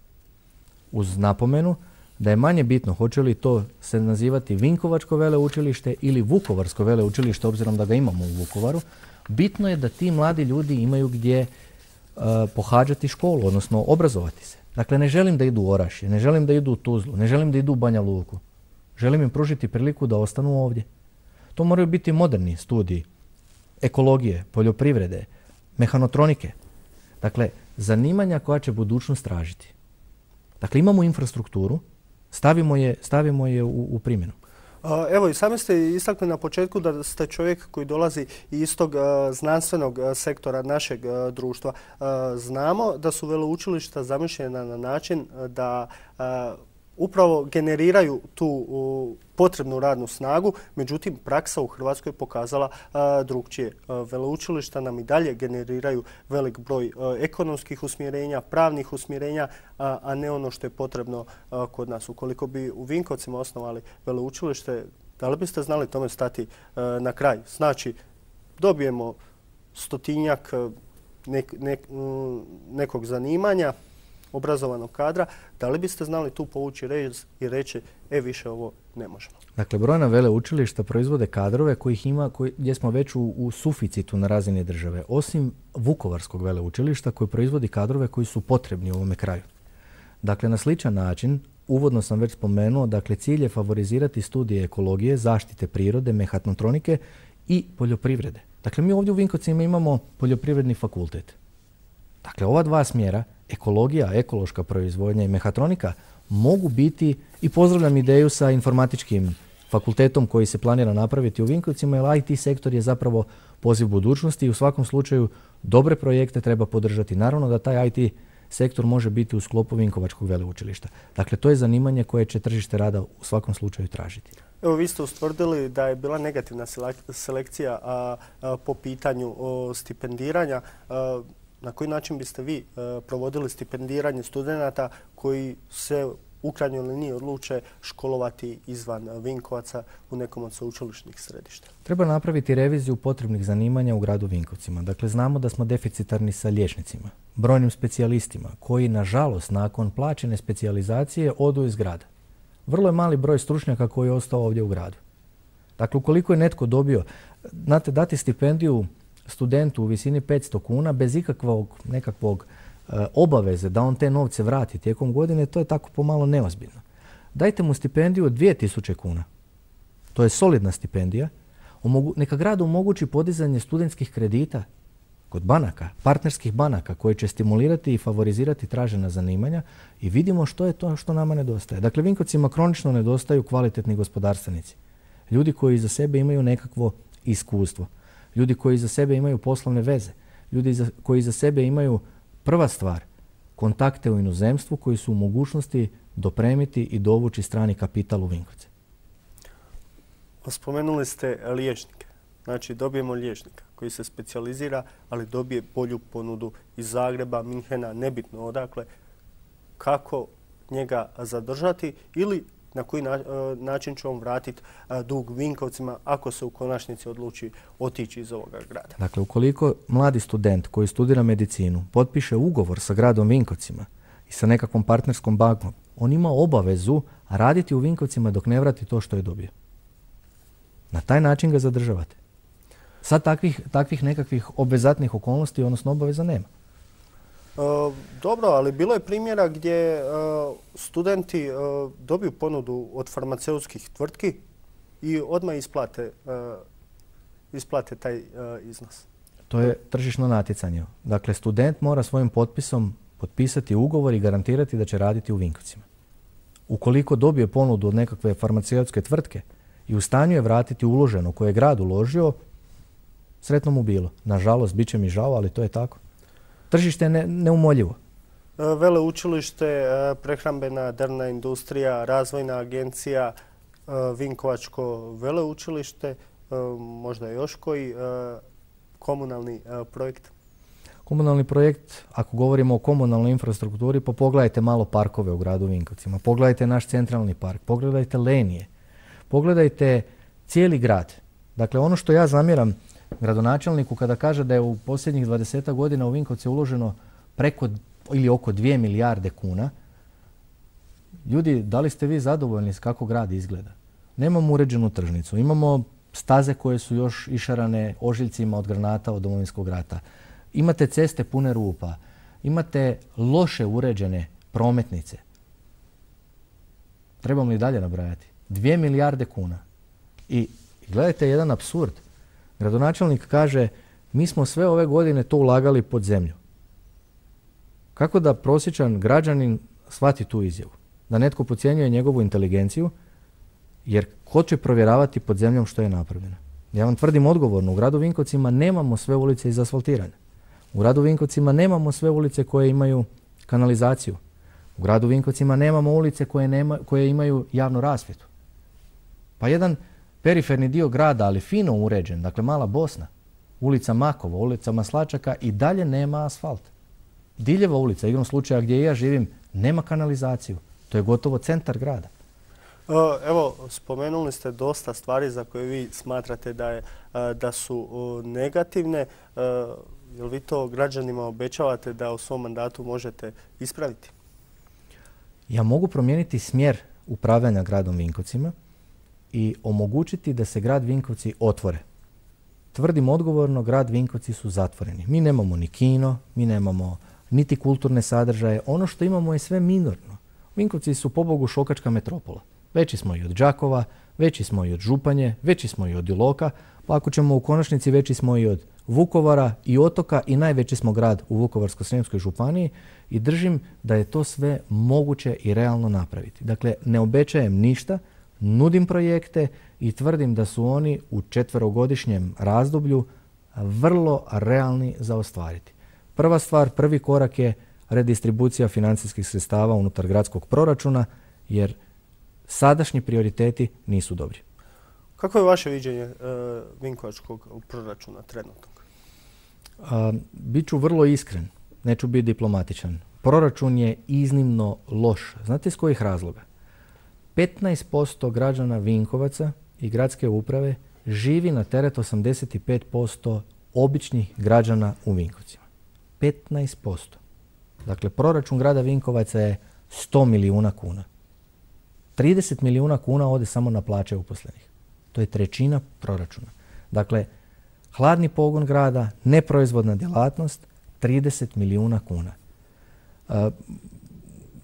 Uz napomenu da je manje bitno hoće li to se nazivati Vinkovačko veleučilište ili Vukovarsko veleučilište, obzirom da ga imamo u Vukovaru. Bitno je da ti mladi ljudi imaju gdje uh, pohađati školu, odnosno obrazovati se. Dakle, ne želim da idu u Orašje, ne želim da idu u Tuzlu, ne želim da idu u Banja Luku. Želim im pružiti priliku da ostanu ovdje. To moraju biti moderni studiji ekologije, poljoprivrede, mehanotronike. Dakle, zanimanja koja će budućnost tražiti. Dakle, imamo infrastrukturu, stavimo je, stavimo je u, u primjenu. Evo i sami ste istakli na početku da ste čovjek koji dolazi iz tog znanstvenog sektora našeg društva. Znamo da su veleučilišta zamišljena na način da upravo generiraju tu potrebnu radnu snagu, međutim praksa u Hrvatskoj je pokazala drugčije. Veleučilišta nam i dalje generiraju velik broj ekonomskih usmjerenja, pravnih usmjerenja, a ne ono što je potrebno kod nas. Ukoliko bi u Vinkovcima osnovali veleučilište, da li biste znali tome stati na kraj? Znači, dobijemo stotinjak nek, nek, nekog zanimanja, obrazovanog kadra, da li biste znali tu povući rez i reći, e, više ovo ne možemo? Dakle, brojna veleučilišta proizvode kadrove kojih ima, koji, gdje smo već u, u suficitu na razini države. Osim Vukovarskog veleučilišta koji proizvodi kadrove koji su potrebni u ovome kraju. Dakle, na sličan način, uvodno sam već spomenuo, dakle, cilj je favorizirati studije ekologije, zaštite prirode, mehanotronike i poljoprivrede. Dakle, mi ovdje u Vinkovcima imamo poljoprivredni fakultet. Dakle, ova dva smjera, ekologija, ekološka proizvodnja i mehatronika, mogu biti, i pozdravljam ideju sa informatičkim fakultetom koji se planira napraviti u Vinkovcima, jer I T sektor je zapravo poziv budućnosti i u svakom slučaju dobre projekte treba podržati. Naravno da taj I T sektor može biti u sklopu Vinkovačkog veleučilišta. Dakle, to je zanimanje koje će tržište rada u svakom slučaju tražiti. Evo, vi ste ustvrdili da je bila negativna selekcija a, a, po pitanju o, stipendiranja. A, na koji način biste vi a, provodili stipendiranje studenata koji se u krajnjoj liniji odluče školovati izvan Vinkovaca u nekom od sveučilišnih središta? Treba napraviti reviziju potrebnih zanimanja u gradu Vinkovcima. Dakle, znamo da smo deficitarni sa liječnicima, brojnim specijalistima koji, nažalost, nakon plaćene specijalizacije odu iz grada. Vrlo je mali broj stručnjaka koji je ostao ovdje u gradu. Dakle, ukoliko je netko dobio, znate, dati stipendiju studentu u visini petsto kuna bez ikakvog nekakvog e, obaveze da on te novce vrati tijekom godine, to je tako pomalo neozbiljno. Dajte mu stipendiju od dvije tisuće kuna. To je solidna stipendija. Omogu, neka grad omogući podizanje studentskih kredita kod banaka, partnerskih banaka koje će stimulirati i favorizirati tražena zanimanja i vidimo što je to što nama nedostaje. Dakle, Vinkovcima kronično nedostaju kvalitetni gospodarstvenici. Ljudi koji iza sebe imaju nekakvo iskustvo. Ljudi koji iza sebe imaju poslovne veze. Ljudi iza, koji iza sebe imaju, prva stvar, kontakte u inozemstvu koji su u mogućnosti dopremiti i dovući strani kapital u Vinkovce. Spomenuli ste liječnike. Znači, dobijemo liječnika koji se specijalizira, ali dobije bolju ponudu iz Zagreba, Minhena, nebitno odakle. Kako njega zadržati ili na koji način će on vratiti dug Vinkovcima ako se u konačnici odluči otići iz ovoga grada? Dakle, ukoliko mladi student koji studira medicinu potpiše ugovor sa gradom Vinkovcima i sa nekakvom partnerskom bankom, on ima obavezu raditi u Vinkovcima dok ne vrati to što je dobio. Na taj način ga zadržavate. Sad takvih, takvih nekakvih obvezatnih okolnosti, odnosno obaveza nema. E, dobro, ali bilo je primjera gdje e, studenti e, dobiju ponudu od farmaceutskih tvrtki i odmah isplate, e, isplate taj e, iznos. To je tržišno natjecanje. Dakle, student mora svojim potpisom potpisati ugovor i garantirati da će raditi u Vinkovcima. Ukoliko dobije ponudu od nekakve farmaceutske tvrtke i u stanju je vratiti uloženo koje je grad uložio, sretno mu bilo. Nažalost, bit će mi žao, ali to je tako. Tržište je ne, neumoljivo. Veleučilište, prehrambena drvna industrija, razvojna agencija, Vinkovačko veleučilište, možda još koji komunalni projekt? Komunalni projekt, ako govorimo o komunalnoj infrastrukturi, pa pogledajte malo parkove u gradu Vinkovcima. Pogledajte naš centralni park, pogledajte Lenije, pogledajte cijeli grad. Dakle, ono što ja zamjeram gradonačelniku kada kaže da je u posljednjih dvadesetak godina u Vinkovce uloženo preko ili oko dvije milijarde kuna, ljudi, da li ste vi zadovoljni s kako grad izgleda? Nemamo uređenu tržnicu, imamo staze koje su još išarane ožiljcima od granata od Domovinskog rata. Imate ceste pune rupa, imate loše uređene prometnice. Trebamo li dalje nabrajati? Dvije milijarde kuna. I gledajte jedan apsurd. Gradonačelnik kaže, mi smo sve ove godine to ulagali pod zemlju. Kako da prosječan građanin shvati tu izjavu? Da netko podcjenjuje njegovu inteligenciju, jer ko će provjeravati pod zemljom što je napravljeno? Ja vam tvrdim odgovorno, u gradu Vinkovcima nemamo sve ulice izasfaltirane. U gradu Vinkovcima nemamo sve ulice koje imaju kanalizaciju. U gradu Vinkovcima nemamo ulice koje, nema, koje imaju javnu rasvjetu. Pa jedan periferni dio grada, ali fino uređen, dakle mala Bosna, ulica Makova, ulica Maslačaka i dalje nema asfalt. Diljeva ulica, igrom slučaja gdje ja živim, nema kanalizaciju. To je gotovo centar grada. Evo, spomenuli ste dosta stvari za koje vi smatrate da, je, da su negativne. Jel vi to građanima obećavate da u svom mandatu možete ispraviti? Ja mogu promijeniti smjer upravljanja gradom Vinkovcima i omogućiti da se grad Vinkovci otvore. Tvrdim odgovorno, grad Vinkovci su zatvoreni. Mi nemamo ni kino, mi nemamo niti kulturne sadržaje. Ono što imamo je sve minorno. Vinkovci su pobogu šokačka metropola. Veći smo i od Đakova, veći smo i od Županje, veći smo i od Iloka, pa ako ćemo u konačnici veći smo i od Vukovara i Otoka i najveći smo grad u Vukovarsko-srijemskoj županiji i držim da je to sve moguće i realno napraviti. Dakle, ne obećajem ništa, nudim projekte i tvrdim da su oni u četverogodišnjem razdoblju vrlo realni za ostvariti. Prva stvar, prvi korak je redistribucija financijskih sredstava unutar gradskog proračuna, jer sadašnji prioriteti nisu dobri. Kako je vaše viđenje uh, vinkovačkog proračuna trenutnog? Uh, Biću vrlo iskren, neću biti diplomatičan. Proračun je iznimno loš. Znate iz kojih razloga? petnaest posto građana Vinkovaca i gradske uprave živi na teret osamdeset pet posto običnih građana u Vinkovcima. petnaest posto. Dakle, proračun grada Vinkovaca je sto milijuna kuna. trideset milijuna kuna ode samo na plaće uposlenih. To je trećina proračuna. Dakle, hladni pogon grada, neproizvodna djelatnost, trideset milijuna kuna. Uh,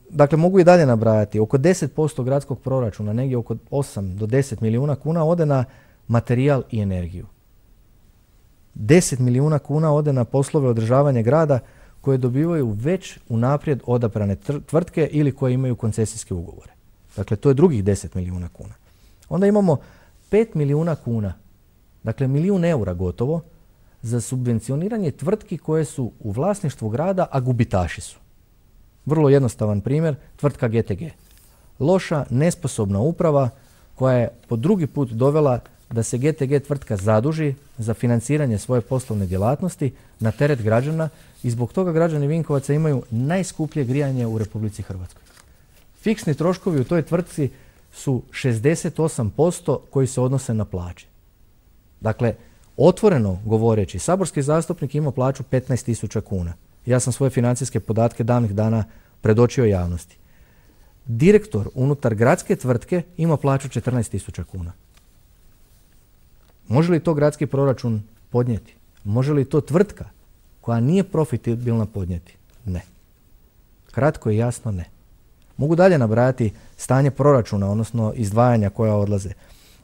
dakle, mogu i dalje nabrajati. Oko deset posto gradskog proračuna, negdje oko osam do deset milijuna kuna ode na materijal i energiju. deset milijuna kuna ode na poslove održavanja grada koje dobivaju već unaprijed odabrane tvrtke ili koje imaju koncesijske ugovore. Dakle, to je drugih deset milijuna kuna. Onda imamo pet milijuna kuna, dakle milijun eura gotovo, za subvencioniranje tvrtki koje su u vlasništvu grada, a gubitaši su. Vrlo jednostavan primjer, tvrtka G T G. Loša, nesposobna uprava koja je po drugi put dovela da se G T G tvrtka zaduži za financiranje svoje poslovne djelatnosti na teret građana i zbog toga građani Vinkovaca imaju najskuplje grijanje u Republici Hrvatskoj. Fiksni troškovi u toj tvrtci su šezdeset osam posto koji se odnose na plaće. Dakle, otvoreno govoreći, saborski zastupnik ima plaću petnaest tisuća kuna. Ja sam svoje financijske podatke davnih dana predočio javnosti. Direktor unutar gradske tvrtke ima plaću četrnaest tisuća kuna. Može li to gradski proračun podnijeti? Može li to tvrtka koja nije profitabilna podnijeti? Ne. Kratko i jasno ne. Mogu dalje nabrajati stanje proračuna, odnosno izdvajanja koja odlaze.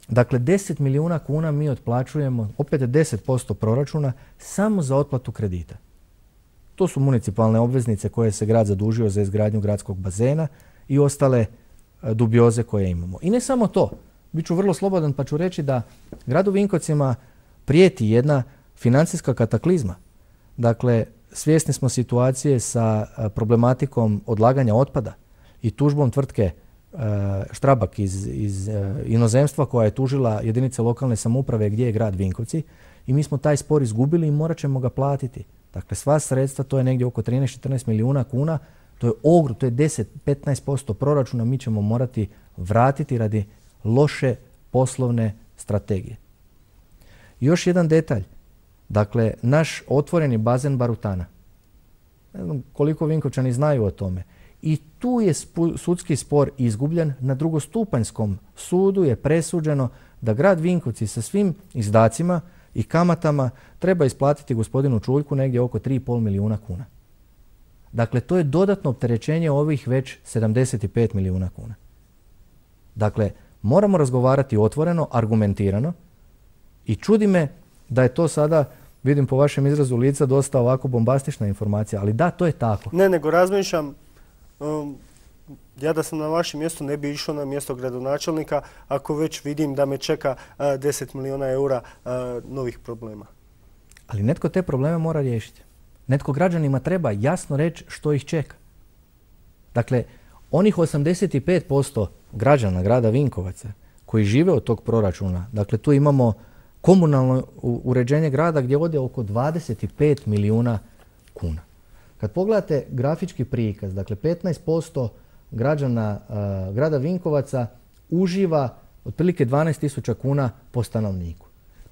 Dakle, deset milijuna kuna mi otplaćujemo, opet deset posto proračuna, samo za otplatu kredita. To su municipalne obveznice koje se grad zadužio za izgradnju gradskog bazena i ostale dubioze koje imamo. I ne samo to. Biću vrlo slobodan pa ću reći da gradu Vinkovcima prijeti jedna financijska kataklizma. Dakle, svjesni smo situacije sa problematikom odlaganja otpada i tužbom tvrtke Štrabak iz, iz inozemstva koja je tužila jedinice lokalne samouprave gdje je grad Vinkovci i mi smo taj spor izgubili i morat ćemo ga platiti. Dakle, sva sredstva, to je negdje oko trinaest do četrnaest milijuna kuna, to je ogrom, to je deset do petnaest posto proračuna, mi ćemo morati vratiti radi loše poslovne strategije. Još jedan detalj. Dakle, naš otvoreni bazen Barutana. Ne znam koliko Vinkovčani znaju o tome. I tu je sudski spor izgubljen. Na drugostupanjskom sudu je presuđeno da grad Vinkovci sa svim izdacima i kamatama treba isplatiti gospodinu Čuljku negdje oko tri i pol milijuna kuna. Dakle, to je dodatno opterećenje ovih već sedamdeset pet milijuna kuna. Dakle, moramo razgovarati otvoreno, argumentirano i čudi me da je to sada, vidim po vašem izrazu lica, dosta ovako bombastična informacija, ali da, to je tako. Ne, nego razmišljam, um, ja da sam na vašem mjestu ne bi išao na mjesto gradonačelnika ako već vidim da me čeka uh, deset milijuna eura uh, novih problema. Ali netko te probleme mora riješiti. Netko građanima treba jasno reći što ih čeka. Dakle, onih osamdeset pet posto građana grada Vinkovaca koji žive od tog proračuna, dakle tu imamo komunalno uređenje grada gdje ode oko dvadeset pet milijuna kuna. Kad pogledate grafički prikaz, dakle petnaest posto građana uh, grada Vinkovaca uživa otprilike dvanaest tisuća kuna po stanovniku.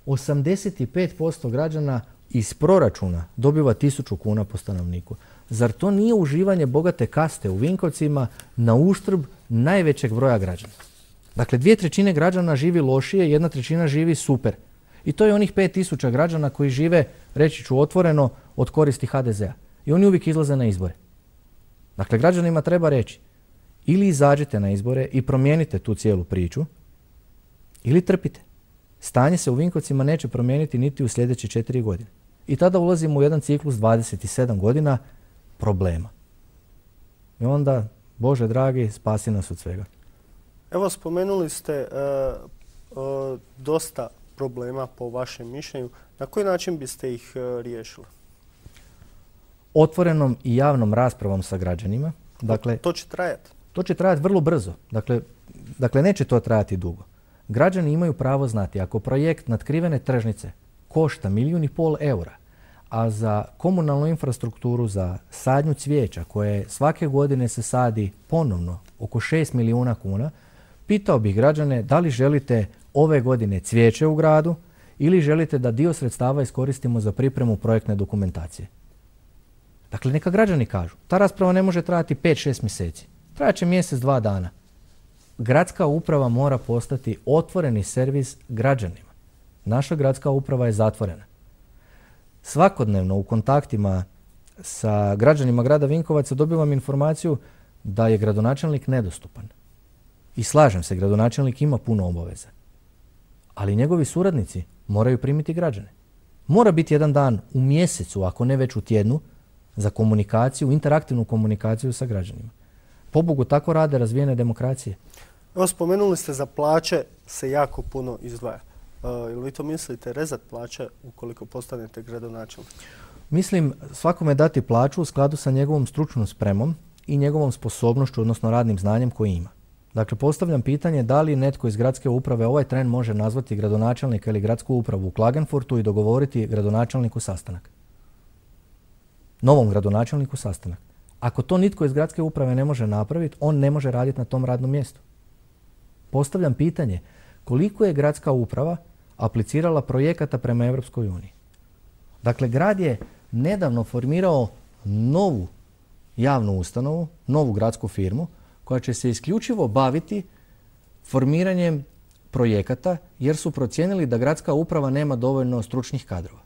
osamdeset pet posto građana iz proračuna dobiva tisuću kuna po stanovniku. Zar to nije uživanje bogate kaste u Vinkovcima na uštrb najvećeg broja građana? Dakle, dvije trećine građana živi lošije, jedna trećina živi super. I to je onih pet tisuća građana koji žive, reći ću otvoreno, od koristi ha de zea. I oni uvijek izlaze na izbore. Dakle, građanima treba reći ili izađite na izbore i promijenite tu cijelu priču, ili trpite. Stanje se u Vinkovcima neće promijeniti niti u sljedeće četiri godine. I tada ulazimo u jedan ciklus dvadeset sedam godina problema. I onda, Bože dragi, spasi nas od svega. Evo, spomenuli ste uh, uh, dosta problema po vašem mišljenju. Na koji način biste ih uh, riješili? Otvorenom i javnom raspravom sa građanima. Dakle, to će trajati? To će trajati vrlo brzo. Dakle, dakle, neće to trajati dugo. Građani imaju pravo znati ako projekt natkrivene tržnice košta milijun i pol eura, a za komunalnu infrastrukturu, za sadnju cvijeća koje svake godine se sadi ponovno oko šest milijuna kuna, pitao bih građane da li želite ove godine cvijeće u gradu ili želite da dio sredstava iskoristimo za pripremu projektne dokumentacije. Dakle, neka građani kažu. Ta rasprava ne može trajati pet šest mjeseci. Trajat će mjesec, dva dana. Gradska uprava mora postati otvoreni servis građanima. Naša gradska uprava je zatvorena. Svakodnevno u kontaktima sa građanima grada Vinkovaca dobivam informaciju da je gradonačelnik nedostupan. I slažem se, gradonačelnik ima puno obaveza. Ali njegovi suradnici moraju primiti građane. Mora biti jedan dan u mjesecu, ako ne već u tjednu, za komunikaciju, interaktivnu komunikaciju sa građanima. Pobogu, tako rade razvijene demokracije. Evo, spomenuli ste za plaće se jako puno izdvaja. Uh, ili vi to mislite rezat plaće ukoliko postanete gradonačelnik? Mislim svakome dati plaću u skladu sa njegovom stručnom spremom i njegovom sposobnošću, odnosno radnim znanjem koji ima. Dakle, postavljam pitanje da li netko iz gradske uprave ovaj tren može nazvati gradonačelnika ili gradsku upravu u Klagenfurtu i dogovoriti gradonačelniku sastanak. Novom gradonačelniku sastanak. Ako to nitko iz gradske uprave ne može napraviti, on ne može raditi na tom radnom mjestu. Postavljam pitanje koliko je gradska uprava aplicirala projekata prema Europskoj uniji. Dakle, grad je nedavno formirao novu javnu ustanovu, novu gradsku firmu, koja će se isključivo baviti formiranjem projekata jer su procijenili da gradska uprava nema dovoljno stručnih kadrova.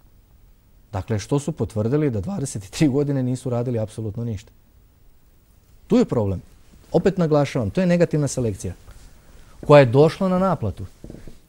Dakle, što su potvrdili da dvadeset tri godine nisu radili apsolutno ništa. Tu je problem. Opet naglašavam, to je negativna selekcija koja je došla na naplatu.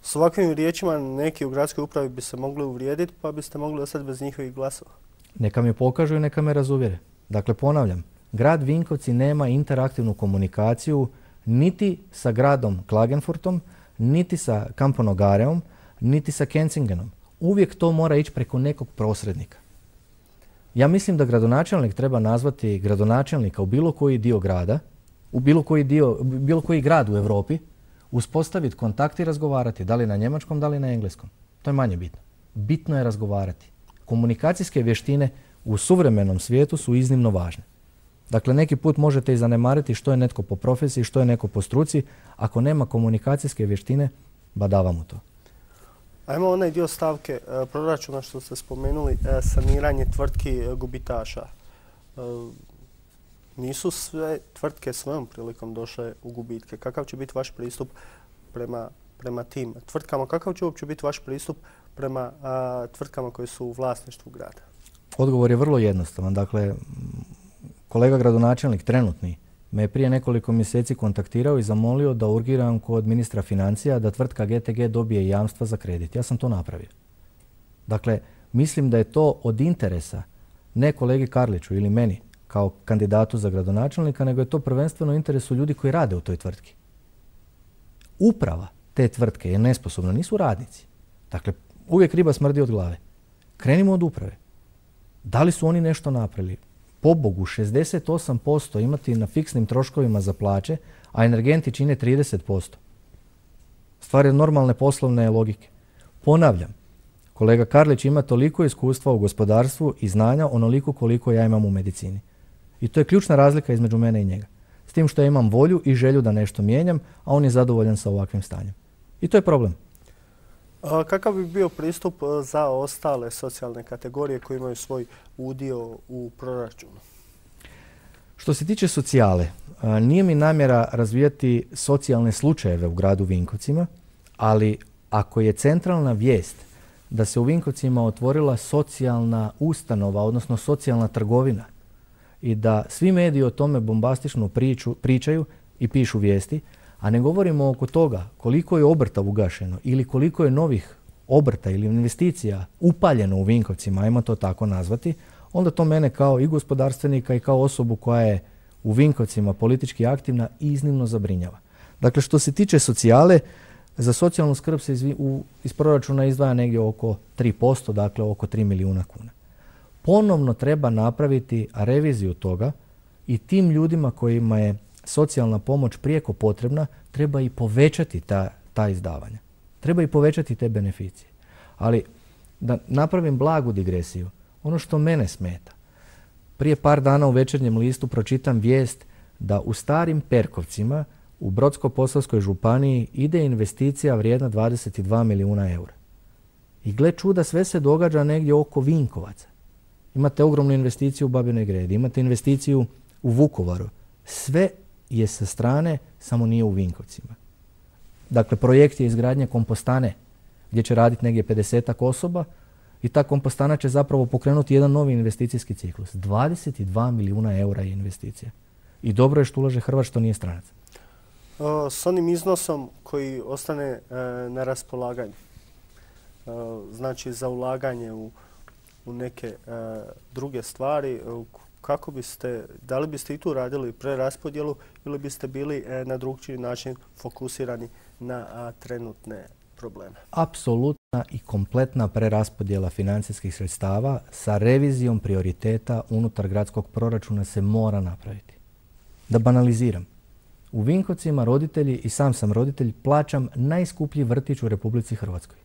S ovakvim riječima neki u gradskoj upravi bi se mogli uvrijediti pa biste mogli ostati bez njihovih glasova. Neka mi pokažu i neka me razuvjere. Dakle, ponavljam, grad Vinkovci nema interaktivnu komunikaciju niti sa gradom Klagenfurtom, niti sa Kamponogareom, niti sa Kensingenom. Uvijek to mora ići preko nekog posrednika. Ja mislim da gradonačelnik treba nazvati gradonačelnika u bilo koji dio grada, u bilo koji, dio, bilo koji grad u Europi, uspostaviti kontakt i razgovarati, da li na njemačkom, da li na engleskom. To je manje bitno. Bitno je razgovarati. Komunikacijske vještine u suvremenom svijetu su iznimno važne. Dakle, neki put možete i zanemariti što je netko po profesiji, što je neko po struci. Ako nema komunikacijske vještine, badava mu to. Ajmo onaj dio stavke e, proračuna što ste spomenuli, e, saniranje tvrtki e, gubitaša. E, nisu sve tvrtke svojom prilikom došle u gubitke. Kakav će biti vaš pristup prema, prema tim tvrtkama? Kakav će uopće biti vaš pristup prema a, tvrtkama koje su u vlasništvu grada? Odgovor je vrlo jednostavan. Dakle, kolega gradonačelnik trenutni me je prije nekoliko mjeseci kontaktirao i zamolio da urgiram kod ministra financija da tvrtka G T G dobije jamstva za kredit. Ja sam to napravio. Dakle, mislim da je to od interesa ne kolegi Karliću ili meni kao kandidatu za gradonačelnika, nego je to prvenstveno u interesu ljudi koji rade u toj tvrtki. Uprava te tvrtke je nesposobna, nisu radnici. Dakle, uvijek riba smrdi od glave. Krenimo od uprave. Da li su oni nešto napravili? Pobogu, šezdeset osam posto imati na fiksnim troškovima za plaće, a energenti čine trideset posto. Stvar je normalne poslovne logike. Ponavljam, kolega Karlić ima toliko iskustva u gospodarstvu i znanja onoliko koliko ja imam u medicini. I to je ključna razlika između mene i njega. S tim što ja imam volju i želju da nešto mijenjam, a on je zadovoljan sa ovakvim stanjem. I to je problem. A kakav bi bio pristup za ostale socijalne kategorije koji imaju svoj udio u proračunu? Što se tiče socijale, nije mi namjera razvijati socijalne slučajeve u gradu Vinkovcima, ali ako je centralna vijest da se u Vinkovcima otvorila socijalna ustanova, odnosno socijalna trgovina, i da svi mediji o tome bombastično priču, pričaju i pišu vijesti, a ne govorimo oko toga koliko je obrta ugašeno ili koliko je novih obrta ili investicija upaljeno u Vinkovcima, ajmo to tako nazvati, onda to mene kao i gospodarstvenika i kao osobu koja je u Vinkovcima politički aktivna iznimno zabrinjava. Dakle, što se tiče socijale, za socijalnu skrb se iz, u, iz proračuna izdvaja negdje oko tri posto, dakle oko tri milijuna kuna. Ponovno treba napraviti reviziju toga i tim ljudima kojima je socijalna pomoć prijeko potrebna, treba i povećati ta, ta izdavanja. Treba i povećati te beneficije. Ali da napravim blagu digresiju, ono što mene smeta, prije par dana u Večernjem listu pročitam vijest da u Starim Perkovcima u Brodsko-posavskoj županiji ide investicija vrijedna dvadeset dva milijuna eura. I gle čuda, sve se događa negdje oko Vinkovaca. Imate ogromnu investiciju u Babinoj Gredi, imate investiciju u Vukovaru. Sve je sa strane, samo nije u Vinkovcima. Dakle, projekt je izgradnje kompostane gdje će raditi negdje pedesetak osoba i ta kompostana će zapravo pokrenuti jedan novi investicijski ciklus. dvadeset dva milijuna eura je investicija. I dobro je što ulaže Hrvat, što nije stranac. O, s onim iznosom koji ostane e, na raspolaganju, e, znači za ulaganje u, u neke e, druge stvari, e, kako biste, da li biste i tu radili preraspodjelu ili biste bili e, na drugčiji način fokusirani na a, trenutne probleme? Apsolutna i kompletna preraspodjela financijskih sredstava sa revizijom prioriteta unutar gradskog proračuna se mora napraviti. Da banaliziram. U Vinkovcima roditelji, i sam sam roditelj, plaćam najskuplji vrtić u Republici Hrvatskoj.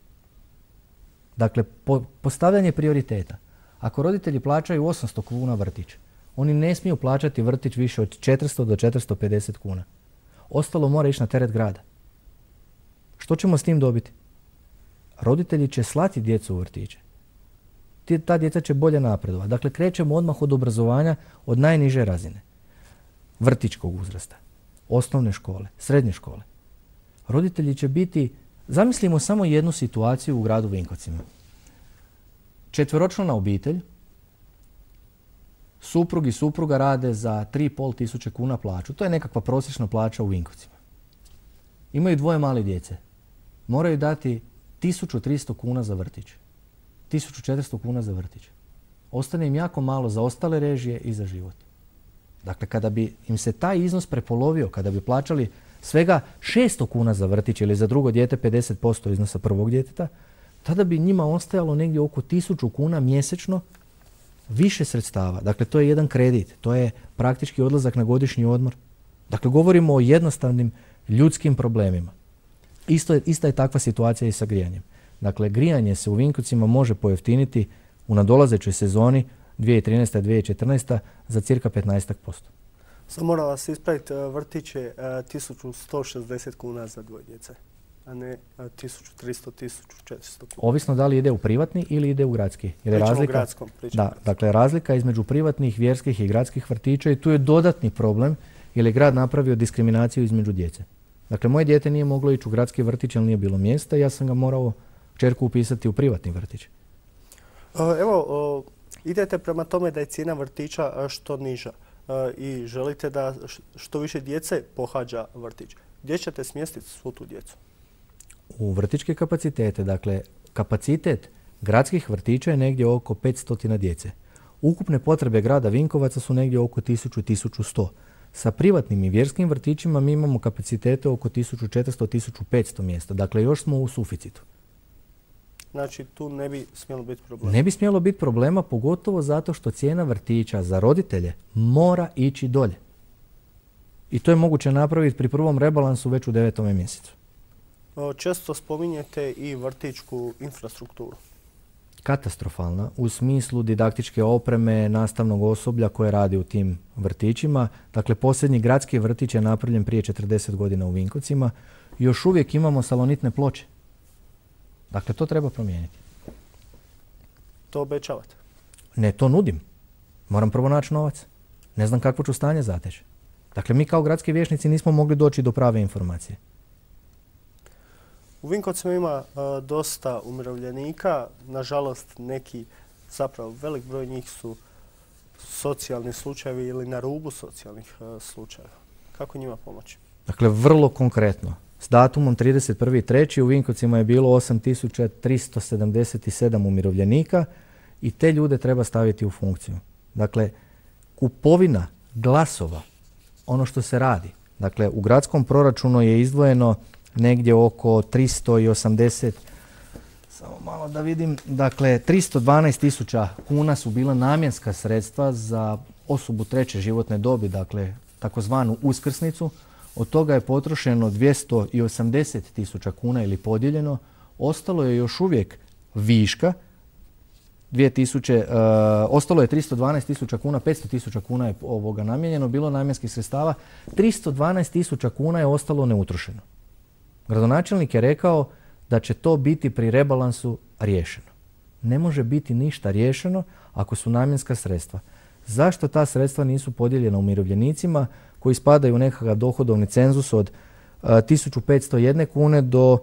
Dakle, po, postavljanje prioriteta. Ako roditelji plaćaju osamsto kuna vrtić, oni ne smiju plaćati vrtić više od četiristo do četiristo pedeset kuna. Ostalo mora ići na teret grada. Što ćemo s tim dobiti? Roditelji će slati djecu u vrtiće. Ta djeca će bolje napredovati. Dakle, krećemo odmah od obrazovanja od najniže razine. Vrtićkog uzrasta, osnovne škole, srednje škole. Roditelji će biti, zamislimo samo jednu situaciju u gradu Vinkovcima. Četveročlana obitelj, suprug i supruga rade za tri i pol tisuće kuna plaću. To je nekakva prosječna plaća u Vinkovcima. Imaju dvoje male djece. Moraju dati tisuću tristo kuna za vrtić. tisuću četiristo kuna za vrtić. Ostane im jako malo za ostale režije i za život. Dakle, kada bi im se taj iznos prepolovio, kada bi plaćali svega šesto kuna za vrtić ili za drugo dijete pedeset posto iznosa prvog djeteta, tada bi njima ostajalo negdje oko tisuću kuna mjesečno više sredstava. Dakle, to je jedan kredit, to je praktički odlazak na godišnji odmor. Dakle, govorimo o jednostavnim ljudskim problemima. Isto je, ista je takva situacija i sa grijanjem. Dakle, grijanje se u Vinkovcima može pojeftiniti u nadolazećoj sezoni dvije tisuće trinaesta dvije tisuće četrnaesta za cirka petnaest posto. Samo moram vas ispraviti, vrtić je tisuću sto šezdeset kuna za dvoje djece. a ne tisuću tristo do tisuću četiristo kuna. Ovisno da li ide u privatni ili ide u gradski. Jer pričamo razlika, o gradskom. Da, dakle, razlika između privatnih, vjerskih i gradskih vrtića i tu je dodatni problem jer je grad napravio diskriminaciju između djece. Dakle, moje dijete nije moglo ići u gradski vrtić jer nije bilo mjesta i ja sam ga morao kćerku upisati u privatni vrtić. Evo, idete prema tome da je cijena vrtića što niža i želite da što više djece pohađa vrtić. Gdje ćete smjestiti svu tu djecu? U vrtićke kapacitete. Dakle, kapacitet gradskih vrtića je negdje oko petsto djece. Ukupne potrebe grada Vinkovaca su negdje oko tisuću do tisuću sto. Sa privatnim i vjerskim vrtićima mi imamo kapacitete oko tisuću četiristo do tisuću petsto mjesta. Dakle, još smo u suficitu. Znači, tu ne bi smjelo biti problema? Ne bi smjelo biti problema, pogotovo zato što cijena vrtića za roditelje mora ići dolje. I to je moguće napraviti pri prvom rebalansu već u devetome mjesecu. Često spominjete i vrtićku infrastrukturu. Katastrofalna u smislu didaktičke opreme, nastavnog osoblja koje radi u tim vrtićima. Dakle, posljednji gradski vrtić je napravljen prije četrdeset godina u Vinkovcima. Još uvijek imamo salonitne ploče. Dakle, to treba promijeniti. To obećavate? Ne, to nudim. Moram prvo naći novac. Ne znam kakvo ću stanje zateći. Dakle, mi kao gradski vijećnici nismo mogli doći do prave informacije. U Vinkovcima ima uh, dosta umirovljenika. Nažalost, neki, zapravo velik broj njih su socijalni slučajevi ili na rubu socijalnih uh, slučajeva. Kako njima pomoći? Dakle, vrlo konkretno. S datumom trideset prvi treći u Vinkovcima je bilo osam tisuća tristo sedamdeset sedam umirovljenika i te ljude treba staviti u funkciju. Dakle, kupovina glasova, ono što se radi. Dakle, u gradskom proračunu je izdvojeno negdje oko tristo osamdeset, samo malo da vidim, dakle, tristo dvanaest tisuća kuna su bila namjenska sredstva za osobu treće životne dobi, dakle, takozvanu uskrsnicu. Od toga je potrošeno dvjesto osamdeset tisuća kuna ili podijeljeno. Ostalo je još uvijek viška. dvije tisuće, uh, ostalo je tristo dvanaest tisuća kuna, petsto tisuća kuna je ovoga namijenjeno, bilo namjenskih sredstava. tristo dvanaest tisuća kuna je ostalo neutrošeno. Gradonačelnik je rekao da će to biti pri rebalansu riješeno. Ne može biti ništa riješeno ako su namjenska sredstva. Zašto ta sredstva nisu podijeljena umirovljenicima koji spadaju u nekakav dohodovni cenzus od uh, tisuću petsto jedne kune do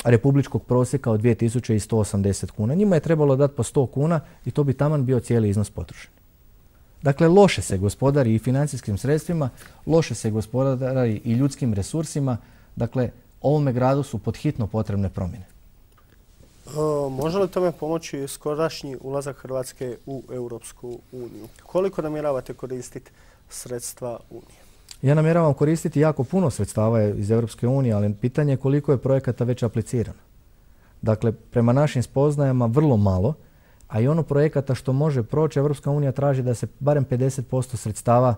republičkog prosjeka od dvije tisuće sto osamdeset kuna. Njima je trebalo dati po sto kuna i to bi taman bio cijeli iznos potrošen. Dakle, loše se gospodari i financijskim sredstvima, loše se gospodari i ljudskim resursima. Dakle, ovome gradu su podhitno potrebne promjene. E, može li tome pomoći skorašnji ulazak Hrvatske u Europsku uniju? Koliko namjeravate koristiti sredstva Unije? Ja namjeravam koristiti jako puno sredstava iz Europske unije, ali pitanje je koliko je projekata već aplicirano. Dakle, prema našim spoznajama vrlo malo, a i ono projekata što može proći, Europska unija traži da se barem pedeset posto sredstava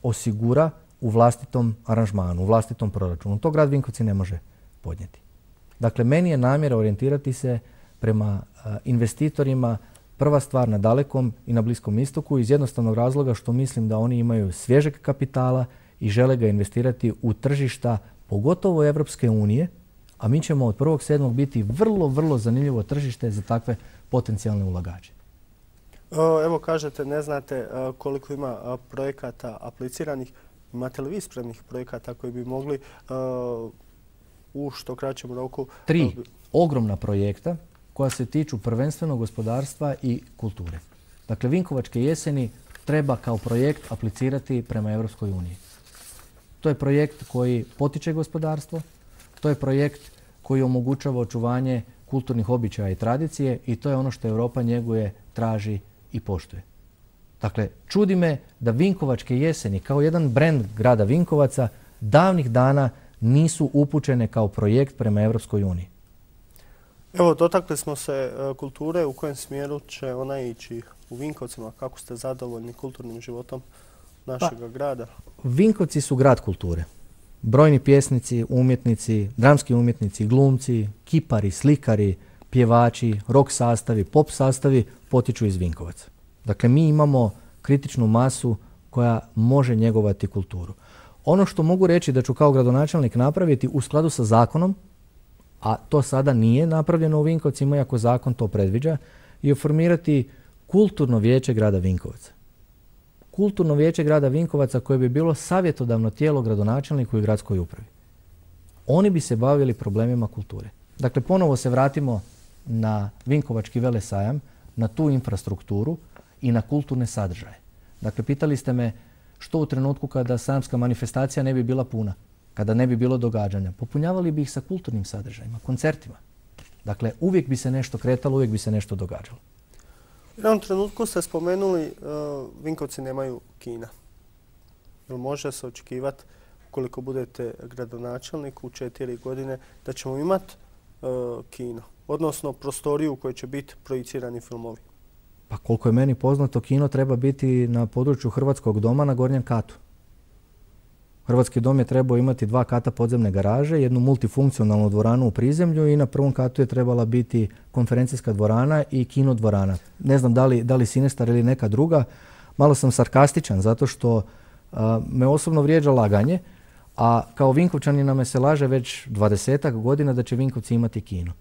osigura u vlastitom aranžmanu, u vlastitom proračunu. To grad Vinkovci ne može podnijeti. Dakle, meni je namjera orijentirati se prema uh, investitorima, prva stvar na Dalekom i na Bliskom istoku, iz jednostavnog razloga što mislim da oni imaju svježeg kapitala i žele ga investirati u tržišta, pogotovo Evropske unije, a mi ćemo od prvog sedmog biti vrlo, vrlo zanimljivo tržište za takve potencijalne ulagače. Evo kažete, ne znate koliko ima projekata apliciranih. Imate li vi spremnih projekata koji bi mogli u što kraćem roku... Tri ogromna projekta koja se tiču prvenstveno gospodarstva i kulture. Dakle, Vinkovačke jeseni treba kao projekt aplicirati prema Evropskoj uniji. To je projekt koji potiče gospodarstvo, to je projekt koji omogućava očuvanje kulturnih običaja i tradicije i to je ono što Europa njeguje, traži i poštuje. Dakle, čudi me da Vinkovačke jeseni kao jedan brend grada Vinkovaca davnih dana nisu upućene kao projekt prema Evropskoj uniji. Evo, dotakli smo se kulture. U kojem smjeru će ona ići u Vinkovcima? Kako ste zadovoljni kulturnim životom našeg pa, grada? Vinkovci su grad kulture. Brojni pjesnici, umjetnici, dramski umjetnici, glumci, kipari, slikari, pjevači, rock sastavi, pop sastavi potiču iz Vinkovaca. Dakle, mi imamo kritičnu masu koja može njegovati kulturu. Ono što mogu reći da ću kao gradonačelnik napraviti u skladu sa zakonom, a to sada nije napravljeno u Vinkovcima, iako zakon to predviđa, je formirati kulturno vijeće grada Vinkovaca. Kulturno vijeće grada Vinkovaca koje bi bilo savjetodavno tijelo gradonačelniku i gradskoj upravi. Oni bi se bavili problemima kulture. Dakle, ponovo se vratimo na Vinkovački velesajam, na tu infrastrukturu i na kulturne sadržaje. Dakle, pitali ste me što u trenutku kada sajamska manifestacija ne bi bila puna, kada ne bi bilo događanja. Popunjavali bi ih sa kulturnim sadržajima, koncertima. Dakle, uvijek bi se nešto kretalo, uvijek bi se nešto događalo. U jednom trenutku ste spomenuli uh, Vinkovci nemaju kina. Jel može se očekivati, ukoliko budete gradonačelnik u četiri godine, da ćemo imati uh, kino, odnosno prostoriju u kojoj će biti projicirani filmovi? Pa koliko je meni poznato, kino treba biti na području Hrvatskog doma na gornjem katu. Hrvatski dom je trebao imati dva kata podzemne garaže, jednu multifunkcionalnu dvoranu u prizemlju i na prvom katu je trebala biti konferencijska dvorana i kino dvorana. Ne znam da li, da li Sinestar ili neka druga. Malo sam sarkastičan zato što a, me osobno vrijeđa laganje, a kao Vinkovčanina me se laže već dvadesetak godina da će Vinkovci imati kino.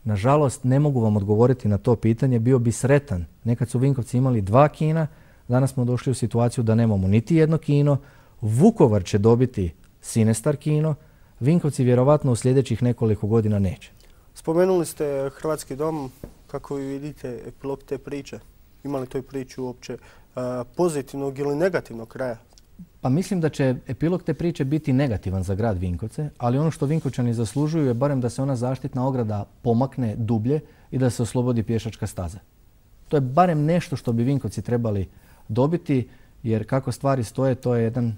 Nažalost, ne mogu vam odgovoriti na to pitanje, bio bi sretan. Nekad su Vinkovci imali dva kina, danas smo došli u situaciju da nemamo niti jedno kino. Vukovar će dobiti Sinestar kino, Vinkovci vjerovatno u sljedećih nekoliko godina neće. Spomenuli ste Hrvatski dom, kako vi vidite epilog te priče? Ima li toj priči uopće uh, pozitivnog ili negativnog kraja? Pa mislim da će epilog te priče biti negativan za grad Vinkovce, ali ono što Vinkovčani zaslužuju je barem da se ona zaštitna ograda pomakne dublje i da se oslobodi pješačka staza. To je barem nešto što bi Vinkovci trebali dobiti, jer kako stvari stoje, to je jedan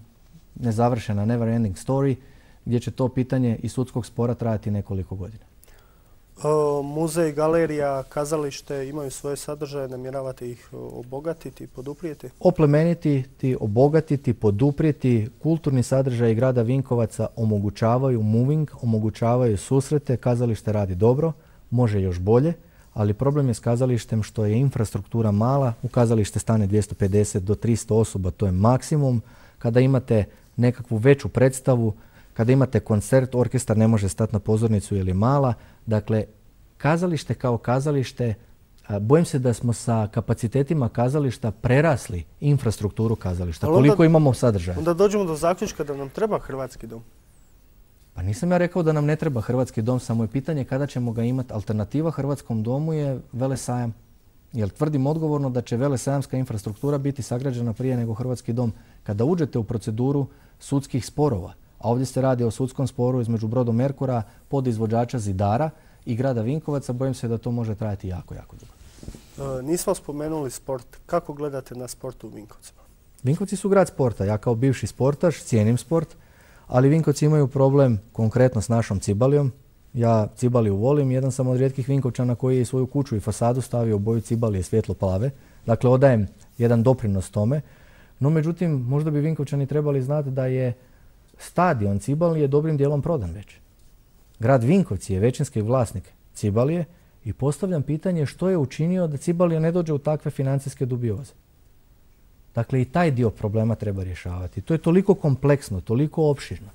nezavršena never ending story gdje će to pitanje i sudskog spora trajati nekoliko godina. O, muzej, galerija, kazalište imaju svoje sadržaje, namjeravate ih obogatiti, poduprijeti? Oplemeniti, obogatiti, poduprijeti. Kulturni sadržaji grada Vinkovaca omogućavaju moving, omogućavaju susrete, kazalište radi dobro, može još bolje, ali problem je s kazalištem što je infrastruktura mala, u kazalište stane dvjesto pedeset do tristo osoba, to je maksimum. Kada imate nekakvu veću predstavu, kada imate koncert, orkestar ne može stati na pozornicu ili mala. Dakle, kazalište kao kazalište, bojim se da smo sa kapacitetima kazališta prerasli infrastrukturu kazališta. Ali koliko onda, imamo sadržaja? Onda dođemo do zaključka da nam treba Hrvatski dom. Pa nisam ja rekao da nam ne treba Hrvatski dom, samo je pitanje kada ćemo ga imati. Alternativa Hrvatskom domu je velesajam. Jer tvrdim odgovorno da će velesajamska infrastruktura biti sagrađena prije nego Hrvatski dom. Kada uđete u proceduru sudskih sporova, a ovdje se radi o sudskom sporu između Brodomerkura, podizvođača Zidara i grada Vinkovaca, bojim se da to može trajati jako, jako dugo. E, nismo spomenuli sport. Kako gledate na sport u Vinkovcima? Vinkovci su grad sporta. Ja kao bivši sportaš cijenim sport, ali Vinkovci imaju problem konkretno s našom Cibalijom. Ja Cibaliju volim, jedan sam od rijetkih Vinkovčana koji je svoju kuću i fasadu stavio u boju Cibalije svjetlo plave. Dakle, odajem jedan doprinos tome. No, međutim, možda bi Vinkovčani trebali znati da je stadion Cibalije dobrim dijelom prodan već. Grad Vinkovci je većinski vlasnik Cibalije i postavljam pitanje što je učinio da Cibalija ne dođe u takve financijske dubioze. Dakle, i taj dio problema treba rješavati. To je toliko kompleksno, toliko opširno.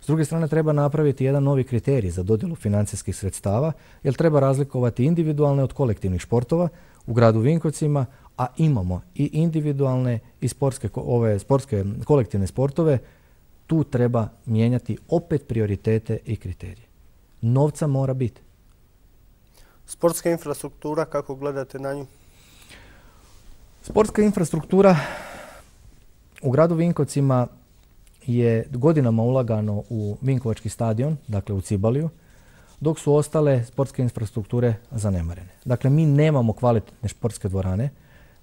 S druge strane, treba napraviti jedan novi kriterij za dodjelu financijskih sredstava, jer treba razlikovati individualne od kolektivnih športova u gradu Vinkovcima, a imamo i individualne i sportske, ove sportske kolektivne sportove. Tu treba mijenjati opet prioritete i kriterije. Novca mora biti. Sportska infrastruktura, kako gledate na nju? Sportska infrastruktura u gradu Vinkovcima je godinama ulagano u Vinkovački stadion, dakle u Cibaliju, dok su ostale sportske infrastrukture zanemarene. Dakle, mi nemamo kvalitetne sportske dvorane,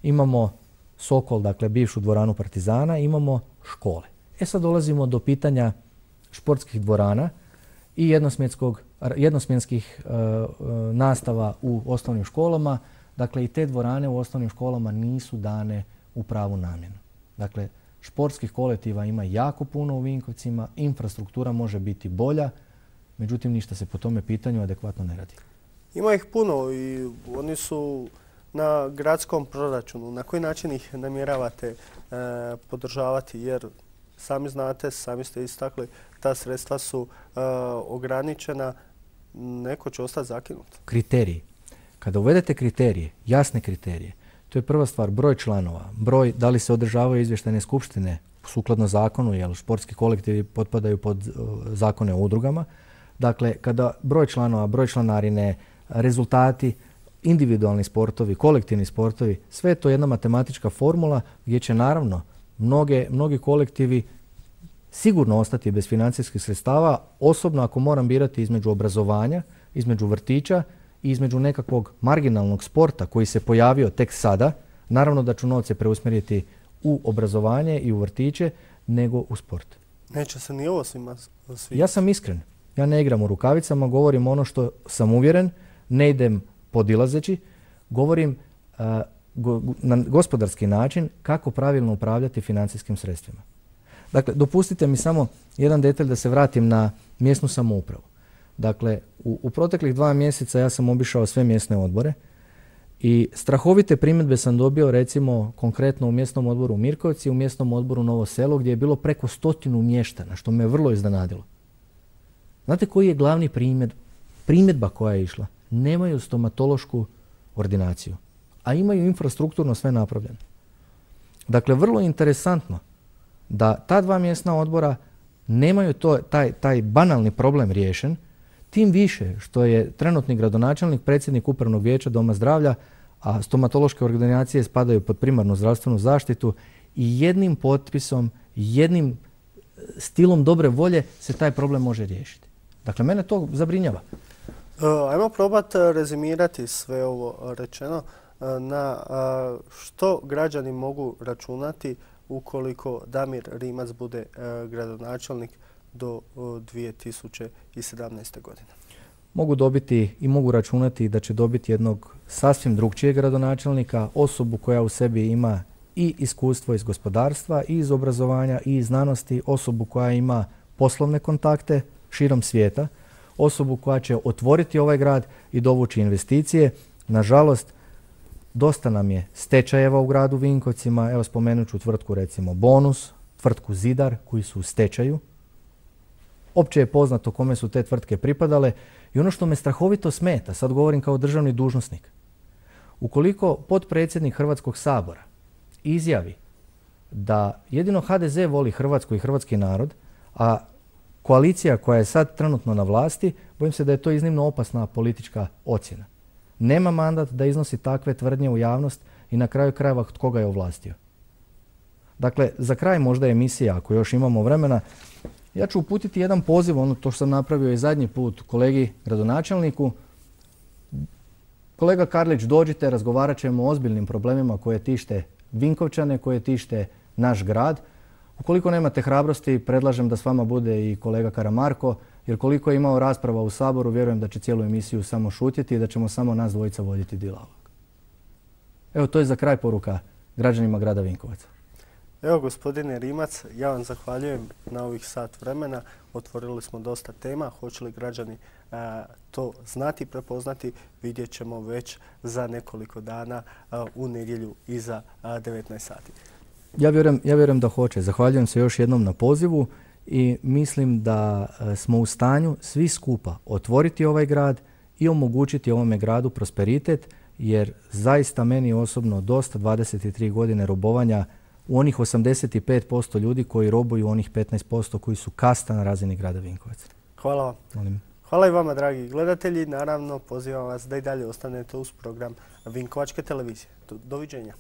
imamo Sokol, dakle bivšu dvoranu Partizana, imamo škole. E sad dolazimo do pitanja športskih dvorana i jednosmjenskih uh, uh, nastava u osnovnim školama. Dakle, i te dvorane u osnovnim školama nisu dane u pravu namjenu. Dakle, športskih kolektiva ima jako puno u Vinkovcima, infrastruktura može biti bolja, međutim ništa se po tome pitanju adekvatno ne radi. Ima ih puno i oni su na gradskom proračunu. Na koji način ih namjeravate e, podržavati? Jer sami znate, sami ste istakli, ta sredstva su e, ograničena. neko će ostati zakinut. Kriteriji. Kada uvedete kriterije, jasne kriterije, to je prva stvar, broj članova, broj da li se održavaju izvještajne skupštine sukladno zakonu, jer športski kolektivi potpadaju pod uh, zakone o udrugama. Dakle, kada broj članova, broj članarine, rezultati, individualni sportovi, kolektivni sportovi, sve je to jedna matematička formula gdje će naravno mnoge, mnogi kolektivi sigurno ostati bez financijskih sredstava, osobno ako moram birati između obrazovanja, između vrtića i između nekakvog marginalnog sporta koji se pojavio tek sada, naravno da ću novce preusmjeriti u obrazovanje i u vrtiće, nego u sport. Neće se ni ovo svima svi. Ja sam iskren. Ja ne igram u rukavicama, govorim ono što sam uvjeren, ne idem podilazeći, govorim uh, go, na gospodarski način kako pravilno upravljati financijskim sredstvima. Dakle, dopustite mi samo jedan detalj da se vratim na mjesnu samoupravu. Dakle, u, u proteklih dva mjeseca ja sam obišao sve mjesne odbore i strahovite primjedbe sam dobio recimo konkretno u mjesnom odboru Mirkovci i u mjesnom odboru Novo Selo gdje je bilo preko stotinu mještana, što me vrlo iznenadilo. Znate koji je glavni primjer, primjedba koja je išla? Nemaju stomatološku ordinaciju, a imaju infrastrukturno sve napravljeno. Dakle, vrlo interesantno da ta dva mjesna odbora nemaju to, taj, taj banalni problem riješen, tim više što je trenutni gradonačelnik, predsjednik upravnog vijeća Doma zdravlja, a stomatološke ordinacije spadaju pod primarnu zdravstvenu zaštitu i jednim potpisom, jednim stilom dobre volje se taj problem može riješiti. Dakle, mene to zabrinjava. Ajmo probati rezimirati sve ovo rečeno na što građani mogu računati ukoliko Damir Rimac bude gradonačelnik do dvije tisuće sedamnaeste. godine. Mogu dobiti i mogu računati da će dobiti jednog sasvim drugčijeg gradonačelnika, osobu koja u sebi ima i iskustvo iz gospodarstva, i iz obrazovanja, i iz znanosti, osobu koja ima poslovne kontakte širom svijeta, osobu koja će otvoriti ovaj grad i dovući investicije. Nažalost, dosta nam je stečajeva u gradu Vinkovcima. Evo, spomenut ću tvrtku recimo Bonus, tvrtku Zidar koji su u stečaju. Opće je poznato kome su te tvrtke pripadale i ono što me strahovito smeta, sad govorim kao državni dužnosnik, ukoliko potpredsjednik Hrvatskog sabora izjavi da jedino ha de ze voli Hrvatsku i hrvatski narod, a koalicija koja je sad trenutno na vlasti, bojim se da je to iznimno opasna politička ocjena. Nema mandat da iznosi takve tvrdnje u javnost i na kraju krajeva tko ga je ovlastio. Dakle, za kraj možda emisija, ako još imamo vremena, ja ću uputiti jedan poziv, ono to što sam napravio i zadnji put kolegi gradonačelniku. Kolega Karlić, dođite, razgovarat ćemo o ozbiljnim problemima koje tište Vinkovčane, koje tište naš grad. Ukoliko nemate hrabrosti, predlažem da s vama bude i kolega Karamarko, jer koliko je imao rasprava u Saboru, vjerujem da će cijelu emisiju samo šutjeti i da ćemo samo nas dvojica voditi dijalog. Evo, to je za kraj poruka građanima grada Vinkovaca. Evo, gospodine Rimac, ja vam zahvaljujem na ovih sat vremena. Otvorili smo dosta tema. Hoće li građani a, to znati, prepoznati, vidjet ćemo već za nekoliko dana a, u nedjelju iza a, devetnaest sati. Ja vjerujem, ja vjerujem da hoće. Zahvaljujem se još jednom na pozivu i mislim da smo u stanju svi skupa otvoriti ovaj grad i omogućiti ovome gradu prosperitet, jer zaista meni osobno dosta dvadeset tri godine robovanja u onih osamdeset pet posto ljudi koji robuju onih petnaest posto koji su kasta na razini grada Vinkovaca. Hvala vam. Molim. Hvala i vama, dragi gledatelji. Naravno, pozivam vas da i dalje ostanete uz program Vinkovačke televizije. Doviđenja.